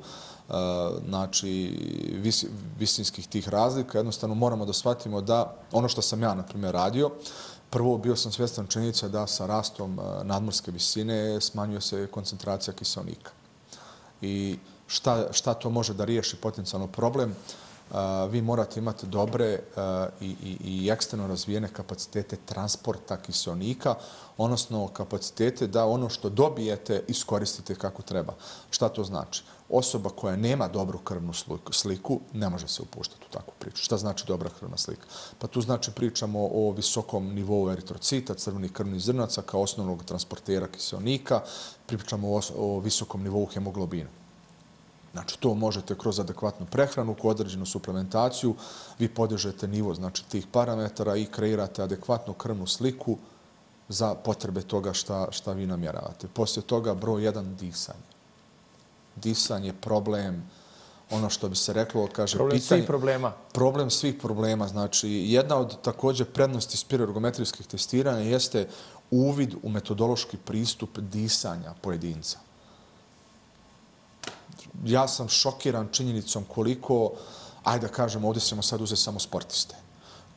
znači, visinskih tih razlika. Jednostavno, moramo da shvatimo da ono što sam ja, na primjer, radio, prvo bio sam svjestan činjenica da sa rastom nadmorske visine smanjuje se koncentracija kiseonika. I šta to može da riješi potencijalno problem? vi morate imati dobre i eksterno razvijene kapacitete transporta kiseonika, odnosno kapacitete da ono što dobijete iskoristite kako treba. Šta to znači? Osoba koja nema dobru krvnu sliku ne može se upuštati u takvu priču. Šta znači dobra krvna slika? Pa tu znači pričamo o visokom nivou eritrocita, crvenih krvnih zrnaca kao osnovnog transportera kiseonika, pričamo o visokom nivou hemoglobina. Znači, to možete kroz adekvatnu prehranu, kroz određenu suplementaciju, vi podižete nivo znači, tih parametara i kreirate adekvatnu krvnu sliku za potrebe toga šta vi namjeravate. Poslije toga, broj 1, disanje. Disanje, problem, ono što bi se reklo, kaže... Problem svih problema. Problem svih problema. Znači, jedna od također prednosti spiroergometrijskih testiranja jeste uvid u metodološki pristup disanja pojedinca. Ja sam šokiran činjenicom koliko, ajde da kažem, ovdje ćemo sad uzeti samo sportiste.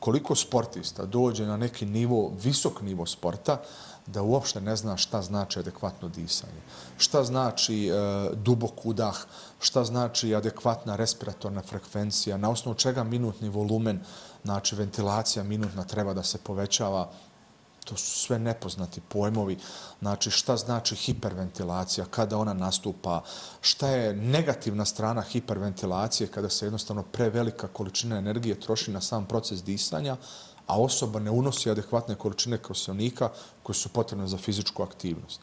Koliko sportista dođe na neki nivo, visok nivo sporta, da uopšte ne zna šta znači adekvatno disanje. Šta znači dubok udah, šta znači adekvatna respiratorna frekvencija, na osnovu čega minutni volumen, znači ventilacija minutna treba da se povećava. To su sve nepoznati pojmovi. Znači, šta znači hiperventilacija, kada ona nastupa, šta je negativna strana hiperventilacije kada se jednostavno prevelika količina energije troši na sam proces disanja, a osoba ne unosi adekvatne količine kiseonika koje su potrebne za fizičku aktivnost.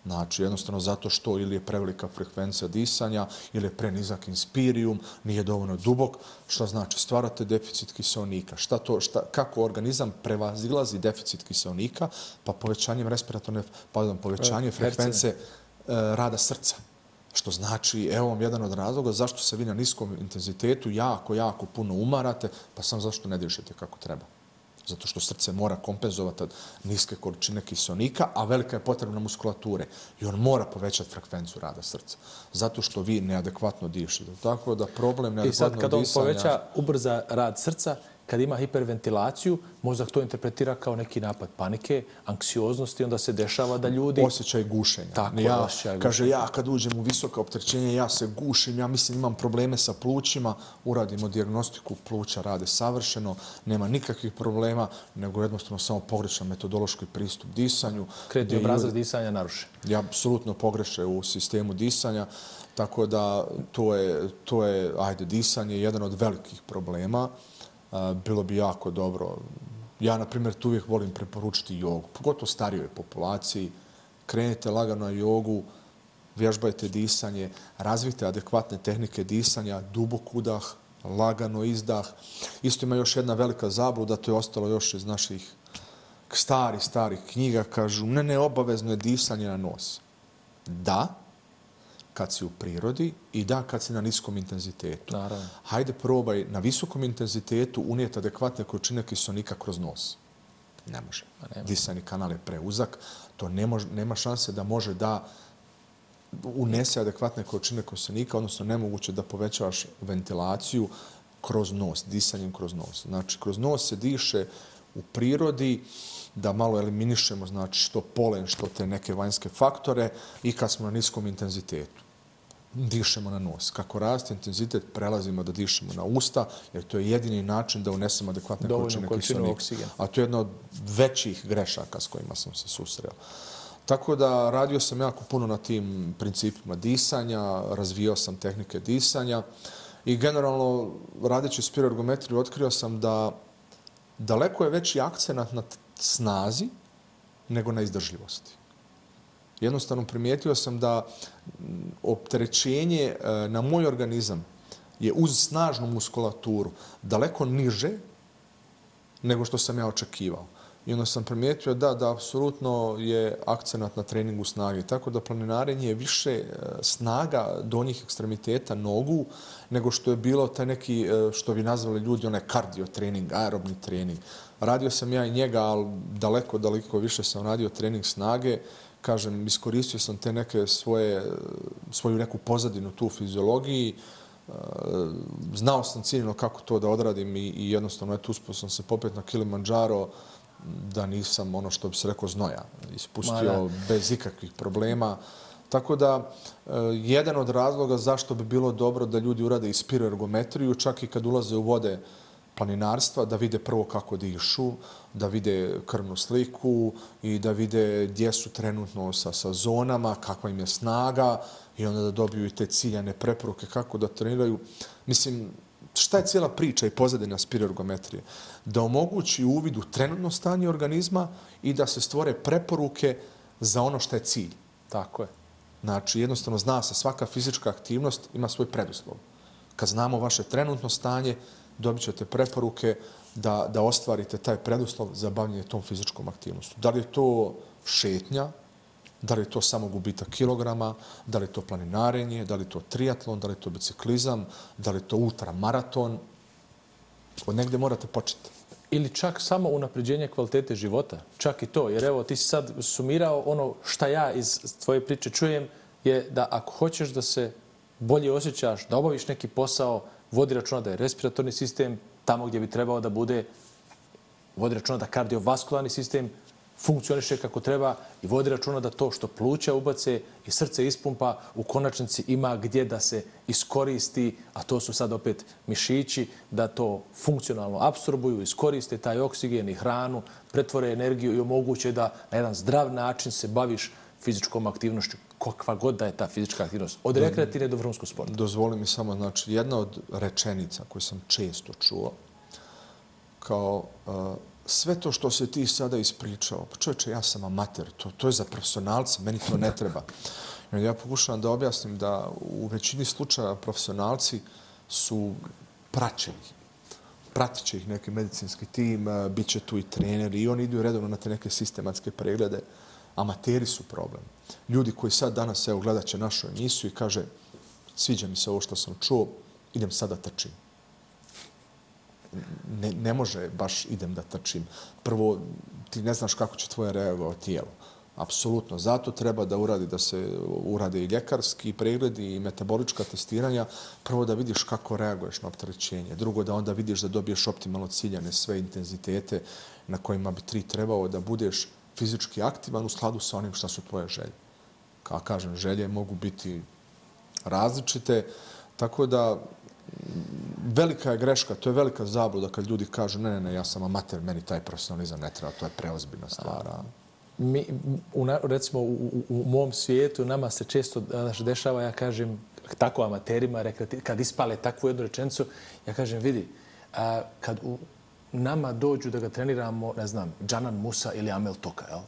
Znači, jednostavno zato što ili je prevelika frekvencija disanja, ili je prenizak inspirijum, nije dovoljno dubok. Šta znači? Stvarate deficit kiseonika. Kako organizam prevazilazi deficit kiseonika? Pa povećanje frekvencije rada srca. Što znači, evo vam jedan od razloga zašto se vi na niskom intenzitetu jako puno umarate, pa sam zašto ne dišete kako treba. Zato što srce mora kompenzovati niske količine kiseonika, a velika je potrebna muskulature. I on mora povećati frekvenciju rada srca. Zato što vi neadekvatno dišete. Tako da problem neadekvatnog disanja... I sad kad on poveća, ubrza rad srca, kad ima hiperventilaciju, mozak to interpretira kao neki napad panike, anksioznosti, onda se dešava da ljudi... Osjećaj gušenja. Tako, osjećaj gušenja. Kaže, ja kad uđem u visoka opterećenja, ja se gušim, ja mislim imam probleme sa plućima, uradimo dijagnostiku, pluća rade savršeno, nema nikakvih problema, nego jednostavno samo pogrešan metodološki pristup disanju. Kretni obrazac disanja narušen. Ja apsolutno pogreše u sistemu disanja, tako da to je disanje jedan od velikih problema. Bilo bi jako dobro. Ja, na primjer, tu uvijek volim preporučiti jogu, pogotovo starijoj populaciji. Krenite lagano na jogu, vježbajte disanje, razvijte adekvatne tehnike disanja, dubok udah, lagano izdah. Isto ima još jedna velika zabluda, to je ostalo još iz naših starih knjiga. Kažu, ne, obavezno je disanje na nos. Da, kad si u prirodi i da, kad si na niskom intenzitetu. Naravno. Hajde probaj na visokom intenzitetu unijeti adekvatne količine kiseonika kroz nos. Ne može. Disajni kanal je preuzak. To nema šanse da može da unese adekvatne količine kiseonika, odnosno nemoguće da povećavaš ventilaciju kroz nos, disanjem kroz nos. Znači, kroz nos se diše u prirodi, da malo eliminišemo znači, što polen, što te neke vanjske faktore i kad smo na niskom intenzitetu. Dišemo na nos. Kako raste intenzitet, prelazimo da dišemo na usta, jer to je jedini način da unesemo adekvatne količine kiseonika. A to je jedna od većih grešaka s kojima sam se susreo. Tako da radio sam jako puno na tim principima disanja, razvijao sam tehnike disanja i generalno radeći spiroergometriju otkrio sam da daleko je veći akcenat na snazi nego na izdržljivosti. Jednostavno primijetio sam da opterećenje na moj organizam je uz snažnu muskulaturu daleko niže nego što sam ja očekivao. I onda sam primijetio da apsolutno je akcenat na treningu snage. Tako da planinarenje je više snaga donjih ekstremiteta nogu nego što je bilo taj neki, što bi nazvali ljudi, onaj kardio trening, aerobni trening. Radio sam ja i njega, ali daleko više sam radio trening snage. Kažem, iskoristio sam te neke svoju neku pozadinu tu u fiziologiji. Znao sam ciljno kako to da odradim i jednostavno uspio sam se popeti na Kilimandžaro da nisam ono što bi se rekao znoja. Ispustio bez ikakvih problema. Tako da, jedan od razloga zašto bi bilo dobro da ljudi urade i spiroergometriju, čak i kad ulaze u vode planinarstva, da vide prvo kako dišu, da vide krvnu sliku i da vide gdje su trenutno sa zonama, kakva im je snaga i onda da dobiju i te ciljane preporuke kako da treniraju. Mislim, šta je cijela priča i pozadina spiroergometrije? Da omogući uvid u trenutno stanje organizma i da se stvore preporuke za ono što je cilj. Tako je. Znači, jednostavno zna se, svaka fizička aktivnost ima svoj preduslov. Kad znamo vaše trenutno stanje, dobit ćete preporuke da ostvarite taj preduslov za bavljanje tom fizičkom aktivnostu. Da li je to šetnja, da li je to samo gubitak kilograma, da li je to planinarenje, da li je to triatlon, da li je to biciklizam, da li je to ultramaraton. Od negdje morate početi. Ili čak samo unapređenje kvalitete života. Čak i to. Jer evo, ti si sad sumirao ono šta ja iz tvoje priče čujem je da ako hoćeš da se bolje osjećaš, da obaviš neki posao, vodi računa da je respiratorni sistem tamo gdje bi trebao da bude, vodi računa da kardiovaskularni sistem funkcioniše kako treba i vodi računa da to što pluća ubace i srce ispumpa u konačnici ima gdje da se iskoristi, a to su sad opet mišići, da to funkcionalno apsorbuju, iskoriste taj oksigen i hranu, pretvore energiju i omoguće da na jedan zdrav način se baviš fizičkom aktivnošću, kakva god da je ta fizička aktivnost, od rekreativne do vrhunskog sporta. Dozvoli mi samo, znači, jedna od rečenica koju sam često čuo, kao sve to što se ti sada ispričao, pa čovječe, ja sam amater, to je za profesionalce, meni to ne treba. Ja pokušavam da objasnim da u većini slučaja profesionalci su praćeni. Pratit će ih neki medicinski tim, bit će tu i treneri i oni idu redovno na te neke sistematske preglede. Amateri su problem. Ljudi koji sad danas gledat će našu emisiju i kaže sviđa mi se ovo što sam čuo, idem sad da trčim. Ne može baš idem da trčim. Prvo, ti ne znaš kako će tvoje reagovati tijelo. Apsolutno. Zato treba da se urade i ljekarski pregledi i metabolička testiranja. Prvo da vidiš kako reaguješ na opterećenje. Drugo, da onda vidiš da dobiješ optimalno ciljane sve intenzitete na kojima bi ti trebao da budeš fizički aktivan u skladu sa onim što su tvoje želje. Kao kažem, želje mogu biti različite, tako da velika je greška, to je velika zabluda kad ljudi kažu ne, ja sam amater, meni taj profesionalizam ne treba, to je preozbiljna stvar. Recimo, u mom svijetu nama se često dešava, ja kažem, tako amaterima, kad ispale takvu jednu rečenicu, ja kažem, vidi, kad nama dođu da ga treniramo, ne znam, Džanan Musa ili Amel Toka, jel?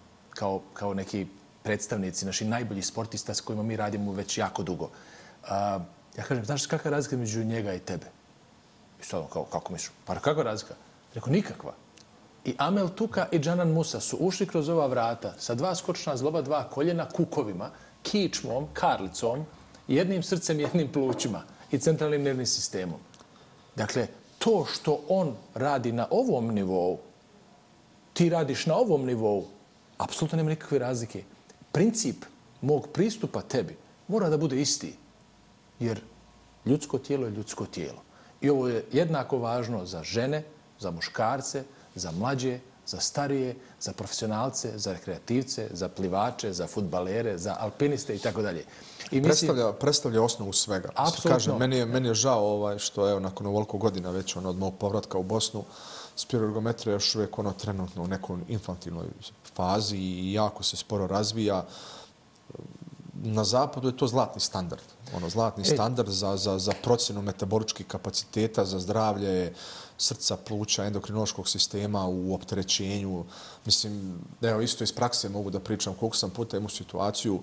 Kao neki predstavnici, naši najbolji sportista s kojima mi radimo već jako dugo. Ja kažem, znaš kakva je razlika među njega i tebe? I sad kako misliš? Pa kakva je razlika? Rekao, nikakva. I Amel Tuka i Džanan Musa su ušli kroz ova vrata sa 2 skočna zgloba, 2 koljena, kukovima, kičmom, karlicom, jednim srcem, jednim plućima i centralnim nervnim sistemom. Dakle, to što on radi na ovom nivou, ti radiš na ovom nivou, apsolutno nema nikakve razlike. Princip mog pristupa tebi mora da bude isti. Jer ljudsko tijelo je ljudsko tijelo. I ovo je jednako važno za žene, za muškarce, za mlađe, za starije, za profesionalce, za rekreativce, za plivače, za fudbalere, za alpiniste i tako dalje. Predstavlja osnovu svega. Apsolutno. Kažem, meni je žao što nakon ovoliko godina već od mog povratka u Bosnu, spiroergometrija još uvijek trenutno u nekoj infantilnoj fazi i jako se sporo razvija. Na zapadu je to zlatni standard. Zlatni standard za procjenu metaboličkih kapaciteta, za zdravlje srca, pluća, endokrinološkog sistema u opterećenju. Mislim, evo isto iz prakse mogu da pričam koliko sam puta imao situaciju,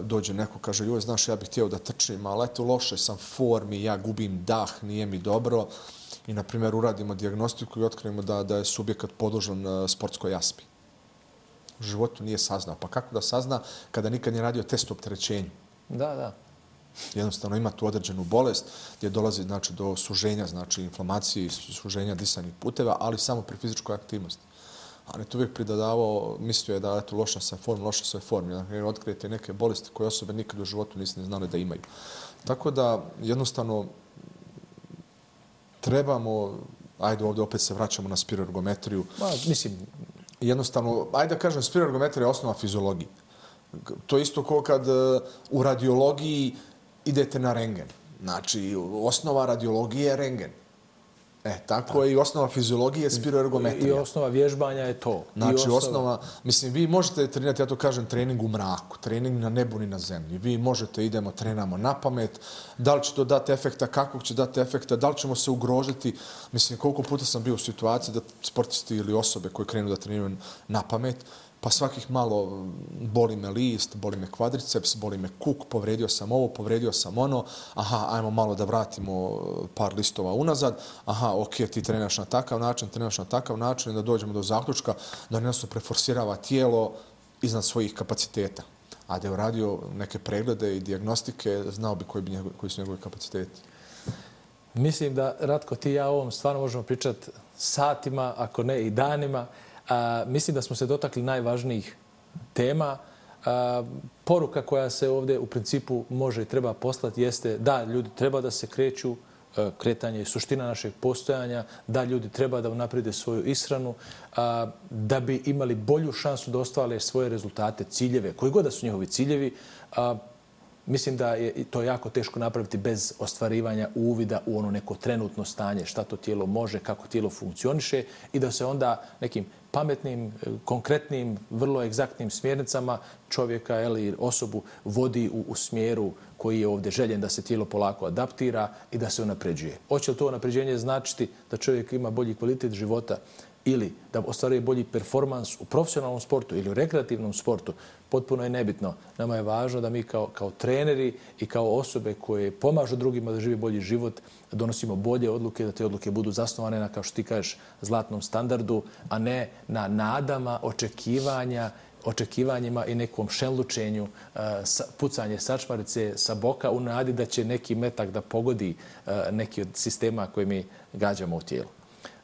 dođe neko, kaže, joj, znaš, ja bih htio da trčim, ali eto, loše sam formi, ja gubim dah, nije mi dobro. I, na primjer, uradimo dijagnostiku i otkrijemo da je subjekat podložan sportskoj jaspi. U životu nije saznao. Pa kako da sazna kada nikad nije radio test opterećenju? Da. Jednostavno ima tu određenu bolest gdje dolazi do suženja, inflamacije i suženja disajnih puteva, ali samo pri fizičkoj aktivnosti. Ali to uvijek pridodavao, mislio je da je loša sa form. Otkrijete neke bolesti koje osobe nikad u životu nisu znali da imaju. Tako da jednostavno trebamo, ajde ovdje opet se vraćamo na spiroergometriju. Mislim, jednostavno, ajde da kažem, spiroergometrija je osnova fiziologije. To je isto kao kad u radiologiji idete na rengen. Znači, osnova radiologije je rengen. Tako je i osnova fiziologije je spiroergometrija. I osnova vježbanja je to. Znači, osnova... Mislim, vi možete trenirati, ja to kažem, trening u mraku, trening na nebu ni na zemlji. Vi možete, idemo, trenamo na pamet. Da li će to dati efekta, kakvog će dati efekta, da li ćemo se ugrožiti. Mislim, koliko puta sam bio u situaciji da sportisti ili osobe koje krenu da treniraju na pamet, pa svakih malo boli me list, boli me kvadriceps, boli me kuk, povredio sam ovo, povredio sam ono, aha, ajmo malo da vratimo par listova unazad, aha, ok, ti treniraš na takav način, da dođemo do zaključka da jednostavno preforsirava tijelo iznad svojih kapaciteta. A da je uradio neke preglede i dijagnostike, znao bi koji su njegovi kapaciteti. Mislim da, Ratko, ti i ja o ovom stvarno možemo pričati satima, ako ne i danima. Mislim da smo se dotakli najvažnijih tema. Poruka koja se ovdje u principu može i treba poslati jeste da ljudi treba da se kreću, kretanje je suština našeg postojanja, da ljudi treba da unaprede svoju ishranu, da bi imali bolju šansu da ostvare svoje rezultate, ciljeve, koji god da su njihovi ciljevi. Mislim da je to jako teško napraviti bez ostvarivanja uvida u ono neko trenutno stanje, šta to tijelo može, kako tijelo funkcioniše i da se onda nekim pametnim, konkretnim, vrlo egzaktnim smjernicama čovjeka ili osobu vodi u smjeru koji je ovdje željen da se tijelo polako adaptira i da se unapređuje. Hoće li to unapređenje značiti da čovjek ima bolji kvalitet života ili da ostvaruje bolji performans u profesionalnom sportu ili u rekreativnom sportu, potpuno je nebitno. Nama je važno da mi kao treneri i kao osobe koje pomažu drugima da žive bolji život, donosimo bolje odluke, da te odluke budu zasnovane na, kao što ti kažeš, zlatnom standardu, a ne na nadama, očekivanjima i nekom šenlučenju, pucanje sačmarice sa boka u nadi da će neki metak da pogodi neki od sistema koje mi gađamo u tijelu.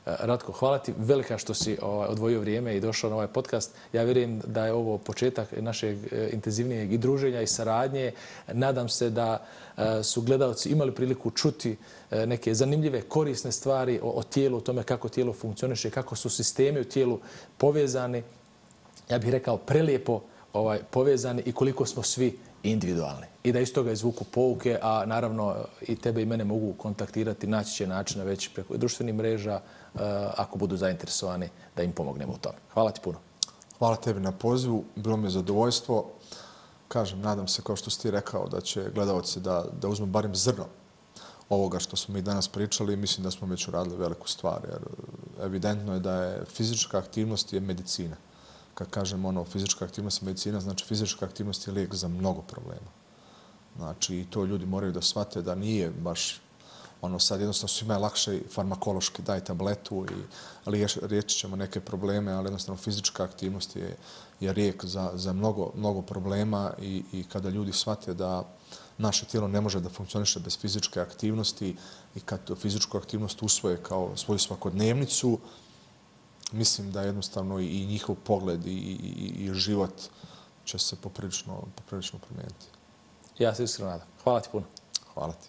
Ratko, hvala ti velika što si odvojio vrijeme i došao na ovaj podcast. Ja vjerujem da je ovo početak našeg intenzivnijeg i druženja i saradnje. Nadam se da su gledalci imali priliku čuti neke zanimljive, korisne stvari o tijelu, o tome kako tijelo funkcioniše, kako su sistemi u tijelu povezani. Ja bih rekao prelijepo povezani i koliko smo svi individualni. I da iz toga izvuku pouke, a naravno i tebe i mene mogu kontaktirati, naći će načina već preko društvenih mreža ako budu zainteresovani da im pomognemo u tome. Hvala ti puno. Hvala tebi na pozivu, bilo mi je zadovoljstvo. Kažem, nadam se, kao što si ti rekao, da će gledalci da uzmu barem zrno ovoga što smo mi danas pričali. Mislim da smo već uradili veliku stvar, jer evidentno je da je fizička aktivnost je medicina. Kad kažem fizička aktivnost je medicina, znači fizička aktivnost je lijek za mnogo problema. Znači, i to ljudi moraju da shvate da nije baš sad jednostavno svima je lakše farmakološki, daj tabletu i riješit ćemo neke probleme, ali jednostavno fizička aktivnost je lijek za mnogo problema i kada ljudi shvate da naše tijelo ne može da funkcioniše bez fizičke aktivnosti i kad fizičku aktivnost usvoje kao svoju svakodnevnicu, mislim da jednostavno i njihov pogled i život će se poprilično promijeniti. Ja se iskreno nadam. Hvala ti puno. Hvala ti.